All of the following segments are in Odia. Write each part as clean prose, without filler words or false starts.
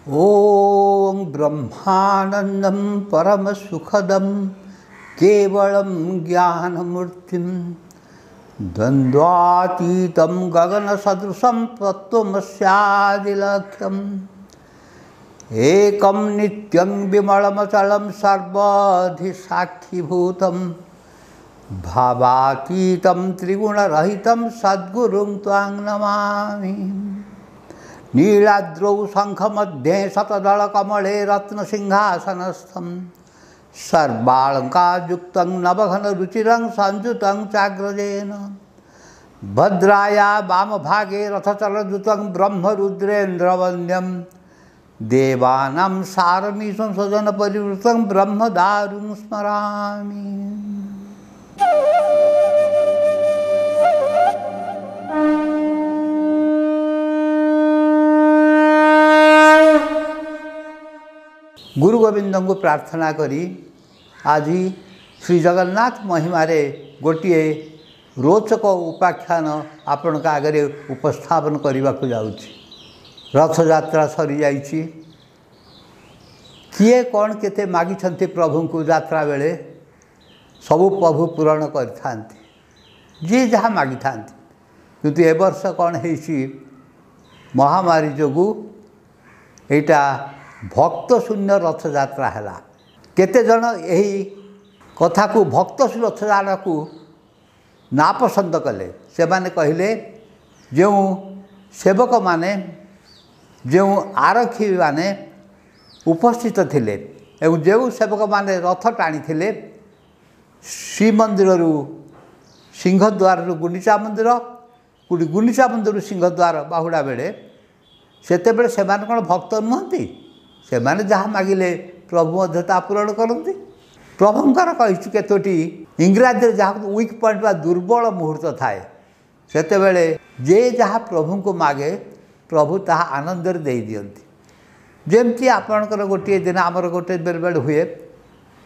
ଓଁ ବ୍ରହ୍ମାନନ୍ଦಂ ପରମସୁଖଦಂ କେବଳಂ ଜ୍ଞାନମୂର୍ତ୍ତିಂ ଦ୍ୱନ୍ଦ୍ୱାତୀତಂ ଗଗନସଦୃଶं ତତ୍ତ୍ୱମସ୍ୟାଦିଲକ୍ଷ୍ୟम् एकं नित्यं विमलमचलं सर्वाधिसाक्षिभूतं भावातीतं त्रिगुणरहितं सद्गुरुं त्वां नमामि। नीलाद्रौ शङ्खमध्ये शतदलकमले रत्नसिंहासनस्थं सर्वालङ्कारयुक्तं नवघनरुचिरं संयुतं चाग्रजेन भद्राया वामभागे रथचलद्रुतं ब्रह्मरुद्रेन्द्रवन्द्यं देवानां सारमीशं स्वजनपरिवृतं ब्रह्मदारुं स्मरामि। ଗୁରୁ ଗୋବିନ୍ଦଙ୍କୁ ପ୍ରାର୍ଥନା କରି ଆଜି ଶ୍ରୀ ଜଗନ୍ନାଥ ମହିମାରେ ଗୋଟିଏ ରୋଚକ ଉପାଖ୍ୟାନ ଆପଣଙ୍କ ଆଗରେ ଉପସ୍ଥାପନ କରିବାକୁ ଯାଉଛି। ରଥଯାତ୍ରା ସରିଯାଇଛି। କିଏ କ'ଣ କେତେ ମାଗିଛନ୍ତି ପ୍ରଭୁଙ୍କୁ ଯାତ୍ରା ବେଳେ, ସବୁ ପ୍ରଭୁ ପୂରଣ କରିଥାନ୍ତି, ଯିଏ ଯାହା ମାଗିଥାନ୍ତି। କିନ୍ତୁ ଏ ବର୍ଷ କ'ଣ ହେଇଛି, ମହାମାରୀ ଯୋଗୁଁ ଏଇଟା ଭକ୍ତ ଶୂନ୍ୟ ରଥଯାତ୍ରା ହେଲା। କେତେଜଣ ଏହି କଥାକୁ, ଭକ୍ତ ରଥଯାତ୍ରାକୁ ନାପସନ୍ଦ କଲେ। ସେମାନେ କହିଲେ ଯେଉଁ ସେବକମାନେ, ଯେଉଁ ଆରକ୍ଷୀମାନେ ଉପସ୍ଥିତ ଥିଲେ ଏବଂ ଯେଉଁ ସେବକମାନେ ରଥ ଟାଣିଥିଲେ, ଶ୍ରୀମନ୍ଦିରରୁ ସିଂହଦ୍ୱାରରୁ ଗୁଣ୍ଡିଚା ମନ୍ଦିର, ଗୁଣ୍ଡିଚା ମନ୍ଦିରରୁ ସିଂହଦ୍ୱାର ବାହୁଡ଼ା ବେଳେ, ସେତେବେଳେ ସେମାନେ କ'ଣ ଭକ୍ତ ନୁହନ୍ତି? ସେମାନେ ଯାହା ମାଗିଲେ ପ୍ରଭୁ ମଧ୍ୟ ତାହା ପୂରଣ କରନ୍ତି। ପ୍ରଭୁଙ୍କର କହିଛି କେତୋଟି ଇଂରାଜୀରେ ଯାହାକୁ ୱିକ୍ ପଏଣ୍ଟ ବା ଦୁର୍ବଳ ମୁହୂର୍ତ୍ତ ଥାଏ, ସେତେବେଳେ ଯେ ଯାହା ପ୍ରଭୁଙ୍କୁ ମାଗେ ପ୍ରଭୁ ତାହା ଆନନ୍ଦରେ ଦେଇଦିଅନ୍ତି। ଯେମିତି ଆପଣଙ୍କର ଗୋଟିଏ ଦିନ, ଆମର ଗୋଟେ ବେଳେବେଳେ ହୁଏ,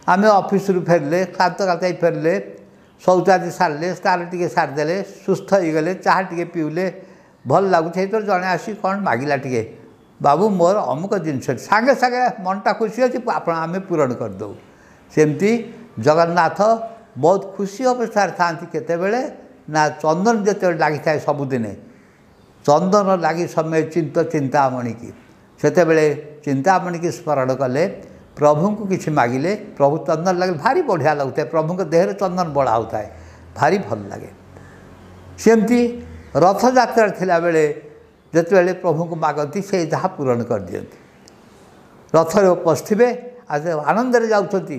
ଆମେ ଅଫିସରୁ ଫେରିଲେ, କ୍ଳାନ୍ତ କାତାଇ ଫେରିଲେ, ଶୌଚାଦି ସାରିଲେ, ସ୍ନାନ ଟିକେ ସାରିଦେଲେ, ସୁସ୍ଥ ହେଇଗଲେ, ଚାହା ଟିକେ ପିଇଲେ, ଭଲ ଲାଗୁଛି। ସେଇଥିରେ ଜଣେ ଆସି କ'ଣ ମାଗିଲା ଟିକେ, ବାବୁ ମୋର ଅମୁକ ଜିନିଷ, ସାଙ୍ଗେ ସାଙ୍ଗେ ମନଟା ଖୁସି ଅଛି, ଆପଣ ଆମେ ପୂରଣ କରିଦେଉ। ସେମିତି ଜଗନ୍ନାଥ ବହୁତ ଖୁସି ଅବସ୍ଥାରେ ଥାଆନ୍ତି କେତେବେଳେ ନା ଚନ୍ଦନ ଯେତେବେଳେ ଲାଗିଥାଏ ସବୁଦିନେ, ଚନ୍ଦନ ଲାଗି ସମୟ ଚିନ୍ତ ଚିନ୍ତାମଣିକି, ସେତେବେଳେ ଚିନ୍ତାମଣିକି ସ୍ମରଣ କଲେ, ପ୍ରଭୁଙ୍କୁ କିଛି ମାଗିଲେ, ପ୍ରଭୁ ଚନ୍ଦନ ଲାଗିଲେ ଭାରି ବଢ଼ିଆ ଲାଗୁଥାଏ, ପ୍ରଭୁଙ୍କ ଦେହରେ ଚନ୍ଦନ ବୋଳା ହେଉଥାଏ, ଭାରି ଭଲ ଲାଗେ। ସେମିତି ରଥଯାତ୍ରା ଥିଲାବେଳେ ଯେତେବେଳେ ପ୍ରଭୁଙ୍କୁ ମାଗନ୍ତି, ସେ ଯାହା ପୂରଣ କରିଦିଅନ୍ତି। ରଥରେ ପଶିଥିବେ, ଆଉ ଆନନ୍ଦରେ ଯାଉଛନ୍ତି,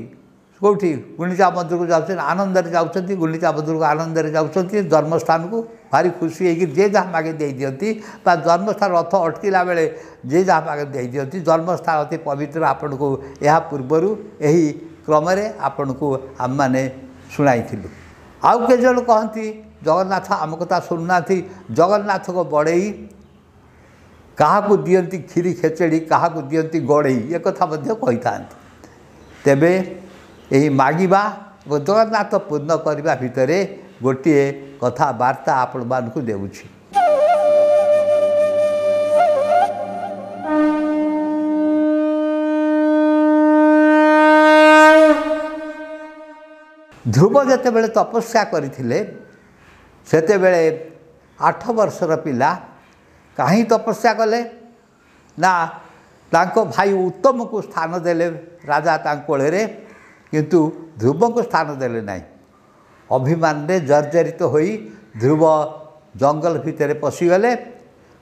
କେଉଁଠି ଗୁଣ୍ଡିଚା ମନ୍ଦିରକୁ ଯାଉଛନ୍ତି, ଆନନ୍ଦରେ ଯାଉଛନ୍ତି, ଗୁଣ୍ଡିଚା ମନ୍ଦିରକୁ ଆନନ୍ଦରେ ଯାଉଛନ୍ତି, ଜନ୍ମସ୍ଥାନକୁ ଭାରି ଖୁସି ହେଇକି ଯିଏ ଯାହା ମାଗେ ଦେଇଦିଅନ୍ତି। ବା ଜନ୍ମସ୍ଥାନ ରଥ ଅଟକିଲା ବେଳେ ଯିଏ ଯାହା ମାଗେ ଦେଇଦିଅନ୍ତି। ଜନ୍ମସ୍ଥାନ ଅତି ପବିତ୍ର। ଆପଣଙ୍କୁ ଏହା ପୂର୍ବରୁ ଏହି କ୍ରମରେ ଆପଣଙ୍କୁ ଆମମାନେ ଶୁଣାଇଥିଲୁ। ଆଉ କେତେଜଣ କହନ୍ତି ଜଗନ୍ନାଥ ଆମ କଥା ଶୁଣୁନାହାନ୍ତି, ଜଗନ୍ନାଥଙ୍କ ବଡ଼େଇ କାହାକୁ ଦିଅନ୍ତି କ୍ଷୀରି ଖେଚେଡ଼ି, କାହାକୁ ଦିଅନ୍ତି ଗଡ଼େଇ, ଏକଥା ମଧ୍ୟ କହିଥାନ୍ତି। ତେବେ ଏହି ମାଗିବା ଏବଂ ଜଗନ୍ନାଥ ପୂର୍ଣ୍ଣ କରିବା ଭିତରେ ଗୋଟିଏ କଥାବାର୍ତ୍ତା ଆପଣମାନଙ୍କୁ ଦେଉଛି। ଧ୍ରୁବ ଯେତେବେଳେ ତପସ୍ୟା କରିଥିଲେ, ସେତେବେଳେ 8 ବର୍ଷର ପିଲା। କାହିଁ ତପସ୍ୟା କଲେ ନା ତାଙ୍କ ଭାଇ ଉତ୍ତମକୁ ସ୍ଥାନ ଦେଲେ ରାଜା ତାଙ୍କ କୋଳରେ, କିନ୍ତୁ ଧ୍ରୁବଙ୍କୁ ସ୍ଥାନ ଦେଲେ ନାହିଁ। ଅଭିମାନରେ ଜର୍ଜରିତ ହୋଇ ଧ୍ରୁବ ଜଙ୍ଗଲ ଭିତରେ ପଶିଗଲେ।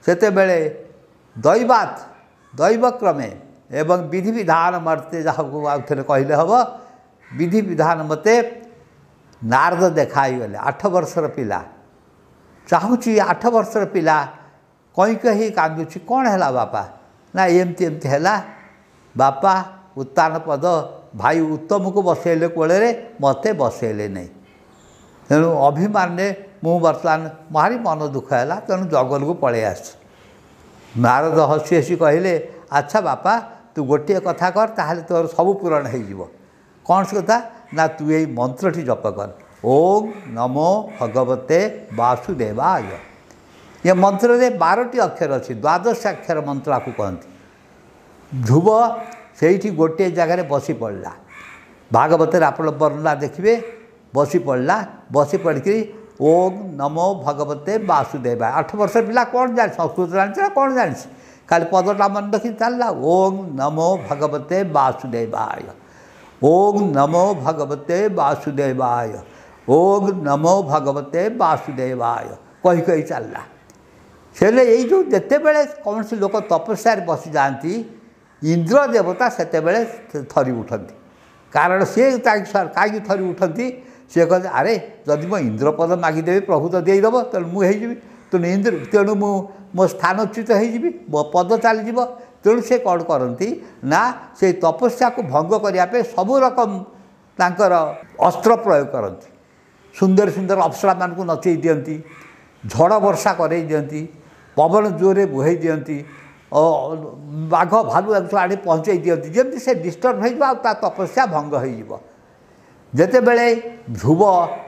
ସେତେବେଳେ ଦୈବାତ, ଦୈବକ୍ରମେ ଏବଂ ବିଧିବିଧାନ ମତେ, ଯାହାକୁ ଆଉ ଥରେ କହିଲେ ହେବ, ବିଧିବିଧାନ ମତେ ନାରଦ ଦେଖା ହେଇଗଲେ। 8 ବର୍ଷର ପିଲା ଚାହୁଁଛି, 8 ବର୍ଷର ପିଲା କଇଁ କହି କାନ୍ଦୁଛି, କ'ଣ ହେଲା ବାପା? ନା ଏମିତି ଏମିତି ହେଲା ବାପା, ଉତ୍ତାନ ପଦ ଭାଇ ଉତ୍ତମକୁ ବସେଇଲେ କୋଳରେ, ମୋତେ ବସେଇଲେ ନାହିଁ। ତେଣୁ ଅଭିମାନରେ ମୁଁ ବର୍ତ୍ତମାନ ଭାରି ମନ ଦୁଃଖ ହେଲା, ତେଣୁ ଜଙ୍ଗଲକୁ ପଳେଇ ଆସିଛି। ନାରଦ ହସି ହସି କହିଲେ, ଆଚ୍ଛା ବାପା, ତୁ ଗୋଟିଏ କଥା କର, ତାହେଲେ ତୋର ସବୁ ପୂରଣ ହେଇଯିବ। କ'ଣ ସେ କଥା? ନା ତୁ ଏଇ ମନ୍ତ୍ରଟି ଜପ କର, ଓଁ ନମୋ ଭଗବତେ ବାସୁଦେବାୟ। ଏ ମନ୍ତ୍ରରେ 12ଟି ଅକ୍ଷର ଅଛି, ଦ୍ୱାଦଶାକ୍ଷର ମନ୍ତ୍ର ଆକୁ କହନ୍ତି। ଧ୍ରୁବ ସେଇଠି ଗୋଟିଏ ଜାଗାରେ ବସି ପଡ଼ିଲା। ଭାଗବତରେ ଆପଣ ବର୍ଣ୍ଣନା ଦେଖିବେ, ବସି ପଡ଼ିଲା। ବସି ପଡ଼ିକିରି ଓಂ ନମୋ ଭଗବତେ ବାସୁଦେବାୟ। 8 ବର୍ଷ ପିଲା କ'ଣ ଜାଣିଛି, ସଂସ୍କୃତ ଜାଣିଛି ନା କ'ଣ ଜାଣିଛି, ଖାଲି ପଦଟା ମନେ ରଖି ଚାଲିଲା। ଓಂ ନମୋ ଭଗବତେ ବାସୁଦେବାୟ, ଓଂ ନମୋ ଭଗବତେ ବାସୁଦେବାୟ, ଓଂ ନମୋ ଭଗବତେ ବାସୁଦେବାୟ କହି କହି ଚାଲିଲା। ହେଲେ ଏଇ ଯେଉଁ ଯେତେବେଳେ କୌଣସି ଲୋକ ତପସ୍ୟାରେ ବସିଯାଆନ୍ତି, ଇନ୍ଦ୍ର ଦେବତା ସେତେବେଳେ ଥରି ଉଠନ୍ତି। କାରଣ ସିଏ କାହିଁକି ଥରି ଉଠନ୍ତି? ସିଏ କହନ୍ତି, ଆରେ ଯଦି ମୁଁ ଇନ୍ଦ୍ରପଦ ମାଗିଦେବି ପ୍ରଭୁ ତ ଦେଇଦେବ, ତେଣୁ ମୁଁ ହେଇଯିବି, ତେଣୁ ଇନ୍ଦ୍ର, ତେଣୁ ମୁଁ ମୋ ସ୍ଥାନଚ୍ୟୁତ ହେଇଯିବି, ମୋ ପଦ ଚାଲିଯିବ। ତେଣୁ ସେ କ'ଣ କରନ୍ତି ନା, ସେଇ ତପସ୍ୟାକୁ ଭଙ୍ଗ କରିବା ପାଇଁ ସବୁ ରକମ ତାଙ୍କର ଅସ୍ତ୍ର ପ୍ରୟୋଗ କରନ୍ତି। ସୁନ୍ଦର ସୁନ୍ଦର ଅପ୍ସରାମାନଙ୍କୁ ନଚେଇ ଦିଅନ୍ତି, ଝଡ଼ ବର୍ଷା କରେଇ ଦିଅନ୍ତି, ପବନ ଜୋରରେ ବୁହେଇ ଦିଅନ୍ତି, ବାଘ ଭାଲୁ ଏମିତି ଆଣି ପହଞ୍ଚେଇ ଦିଅନ୍ତି, ଯେମିତି ସେ ଡିଷ୍ଟର୍ବ ହେଇଯିବ ଆଉ ତା ତପସ୍ୟା ଭଙ୍ଗ ହେଇଯିବ। ଯେତେବେଳେ ଧ୍ରୁବ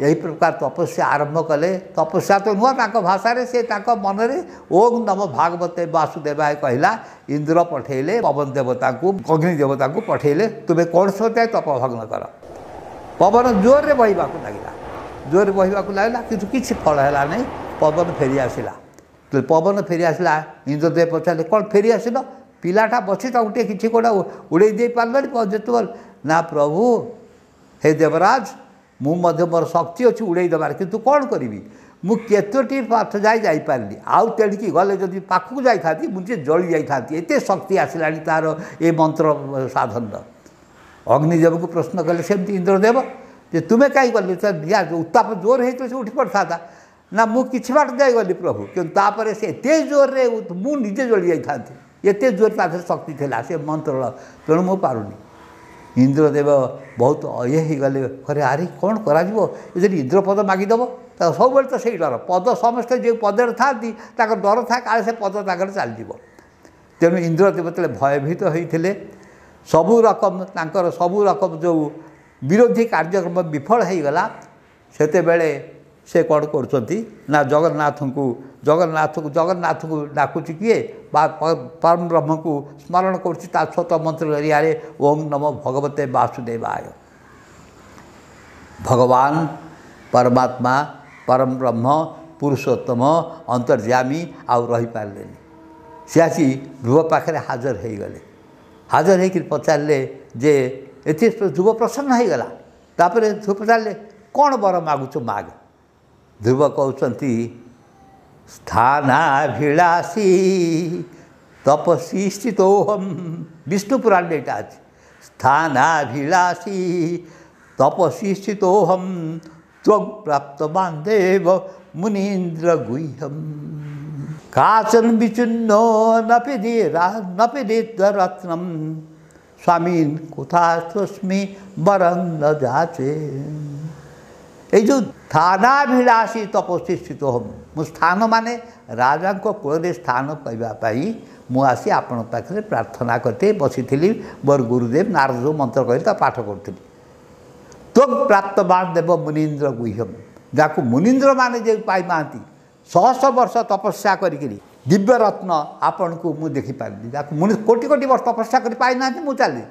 ଏହି ପ୍ରକାର ତପସ୍ୟା ଆରମ୍ଭ କଲେ, ତପସ୍ୟା ତ ନୁହଁ ତାଙ୍କ ଭାଷାରେ, ସେ ତାଙ୍କ ମନରେ ଓଂ ନମ ଭାଗବତେ ବାସୁଦେବାୟ କହିଲା। ଇନ୍ଦ୍ର ପଠେଇଲେ ପବନ ଦେବତାଙ୍କୁ, ଅଗ୍ନି ଦେବତାଙ୍କୁ ପଠେଇଲେ, ତୁମେ କୌଣସି ମତେ ତପ ଭଗ୍ନ କର। ପବନ ଜୋରରେ ବହିବାକୁ ଲାଗିଲା, ଜୋରରେ ବହିବାକୁ ଲାଗିଲା, କିନ୍ତୁ କିଛି ଫଳ ହେଲା ନାହିଁ। ପବନ ଫେରି ଆସିଲା। ପବନ ଫେରି ଆସିଲା, ଇନ୍ଦ୍ରଦେବ ପଚାରିଲେ, କ'ଣ ଫେରି ଆସିଲ? ପିଲାଟା ବସି ତାକୁ ଟିକେ କିଛି କୋଉଟା ଉଡ଼େଇ ଦେଇ ପାରିଲନି ଯେତେବେଳେ? ନା ପ୍ରଭୁ, ହେ ଦେବରାଜ, ମୁଁ ମଧ୍ୟ ମୋର ଶକ୍ତି ଅଛି ଉଡ଼େଇ ଦେବାର, କିନ୍ତୁ କ'ଣ କରିବି, ମୁଁ କେତୋଟି ପାଠ ଯାଇ ଯାଇପାରିଲି, ଆଉ ତେଣିକି ଗଲେ ଯଦି ପାଖକୁ ଯାଇଥାନ୍ତି ମୁଁ ଟିକେ ଜଳି ଯାଇଥାନ୍ତି, ଏତେ ଶକ୍ତି ଆସିଲାଣି ତା'ର ଏ ମନ୍ତ୍ର ସାଧନର। ଅଗ୍ନିଦେବଙ୍କୁ ପ୍ରଶ୍ନ କଲେ ସେମିତି ଇନ୍ଦ୍ରଦେବ ଯେ ତୁମେ କାହିଁ ଗଲି, ନିଆଁ ଉତ୍ତାପ ଜୋର ହେଇଥିଲେ ସେ ଉଠି ପଡ଼ିଥାନ୍ତା। ନା ମୁଁ କିଛି ବାଟ ଯାଇଗଲି ପ୍ରଭୁ, କିନ୍ତୁ ତାପରେ ସେ ଏତେ ଜୋରରେ ମୁଁ ନିଜେ ଜଳି ଯାଇଥାନ୍ତି, ଏତେ ଜୋର ତା ଦେହରେ ଶକ୍ତି ଥିଲା ସେ ମନ୍ତ୍ରର, ତେଣୁ ମୁଁ ପାରୁନି। ଇନ୍ଦ୍ରଦେବ ବହୁତ ଇଏ ହେଇଗଲେ, ଘରେ ଆରେ କ'ଣ କରାଯିବ, ଏ ଯଦି ଇନ୍ଦ୍ରପଦ ମାଗିଦେବ, ତା ସବୁବେଳେ ତ ସେଇ ଡର, ପଦ ସମସ୍ତେ ଯେଉଁ ପଦରେ ଥାଆନ୍ତି ତାଙ୍କର ଡର ଥାଏ କାଳେ ସେ ପଦ ତାଙ୍କର ଚାଲିଯିବ। ତେଣୁ ଇନ୍ଦ୍ରଦେବ ଯେତେବେଳେ ଭୟଭୀତ ହୋଇଥିଲେ, ସବୁ ରକମ ତାଙ୍କର ସବୁ ରକମ ଯେଉଁ ବିରୋଧୀ କାର୍ଯ୍ୟକ୍ରମ ବିଫଳ ହେଇଗଲା, ସେତେବେଳେ ସେ କ'ଣ କରୁଛନ୍ତି ନା ଜଗନ୍ନାଥଙ୍କୁ ଜଗନ୍ନାଥଙ୍କୁ ଜଗନ୍ନାଥଙ୍କୁ ଡାକୁଛି କିଏ, ବା ପରମ ବ୍ରହ୍ମକୁ ସ୍ମରଣ କରୁଛି ତା ସ୍ୱତଃ ମନ୍ତ୍ର ଜରିଆରେ, ଓଂ ନମୋ ଭଗବତେ ବାସୁଦେବାୟ। ଭଗବାନ ପରମାତ୍ମା ପରମ ବ୍ରହ୍ମ ପୁରୁଷୋତ୍ତମ ଅନ୍ତର୍ଯାମୀ ଆଉ ରହିପାରିଲେନି। ସେ ଆସି ଧ୍ରୁବ ପାଖରେ ହାଜର ହେଇଗଲେ। ହାଜର ହେଇକରି ପଚାରିଲେ ଯେ ଏଥି ଧ୍ରୁବ ପ୍ରସନ୍ନ ହେଇଗଲା। ତାପରେ ଧ୍ରୁବ ପଚାରିଲେ, କ'ଣ ବର ମାଗୁଛୁ ମାଗ। ଧ୍ରୁବ କହୁଛନ୍ତି, ସ୍ଥାନାଭିଳାଷୀ ତପସ୍ୱୀ ସ୍ଥିତୋହମ୍। ବିଷ୍ଣୁ ପୁରାଣରେ ଏଇଟା ଅଛି, ସ୍ଥାନାଭିଳାଷୀ ତପସ୍ୱୀ ସ୍ଥିତୋହମ୍ ତ୍ୱଂ ପ୍ରାପ୍ତବାନ୍ ଦେବ ମୁନୀନ୍ଦ୍ର ଗୁହ୍ୟମ୍। କାଚନ ବିଚୂର୍ଣ୍ଣ ନପିଦିତ୍ୱରତ୍ନମ୍ ସ୍ୱାମୀନ୍ କୁଥାସ୍ମି ବରଂ ନ ଯାଚେ। ଏଇ ଯେଉଁ ସ୍ଥାନାଭିଳାଷୀ ତପସ୍ୱୀ ସ୍ଥିତୋହମ୍, ମୁଁ ସ୍ଥାନ ମାନେ ରାଜାଙ୍କ କୂଳରେ ସ୍ଥାନ ପାଇବା ପାଇଁ ମୁଁ ଆସି ଆପଣଙ୍କ ପାଖରେ ପ୍ରାର୍ଥନା କରିତେ ବସିଥିଲି। ମୋର ଗୁରୁଦେବ ନାରଦ ଯେଉଁ ମନ୍ତ୍ର କହିଲେ ତା ପାଠ କରୁଥିଲି। ତ୍ୱଂ ପ୍ରାପ୍ତବାନ୍ ଦେବ ମୁନୀନ୍ଦ୍ର ଗୁହ୍ୟମ୍, ଯାହାକୁ ମୁନୀନ୍ଦ୍ରମାନେ ଯେଉଁ ପାଇନାହାନ୍ତି ଶହ ବର୍ଷ ତପସ୍ୟା କରିକିରି ଦିବ୍ୟରତ୍ନ ଆପଣଙ୍କୁ ମୁଁ ଦେଖିପାରିଲି, ଯାହାକୁ ମୁନି କୋଟି କୋଟି ବର୍ଷ ତପସ୍ୟା କରି ପାଇନାହାନ୍ତି, ମୁଁ ଚାଲିଲି।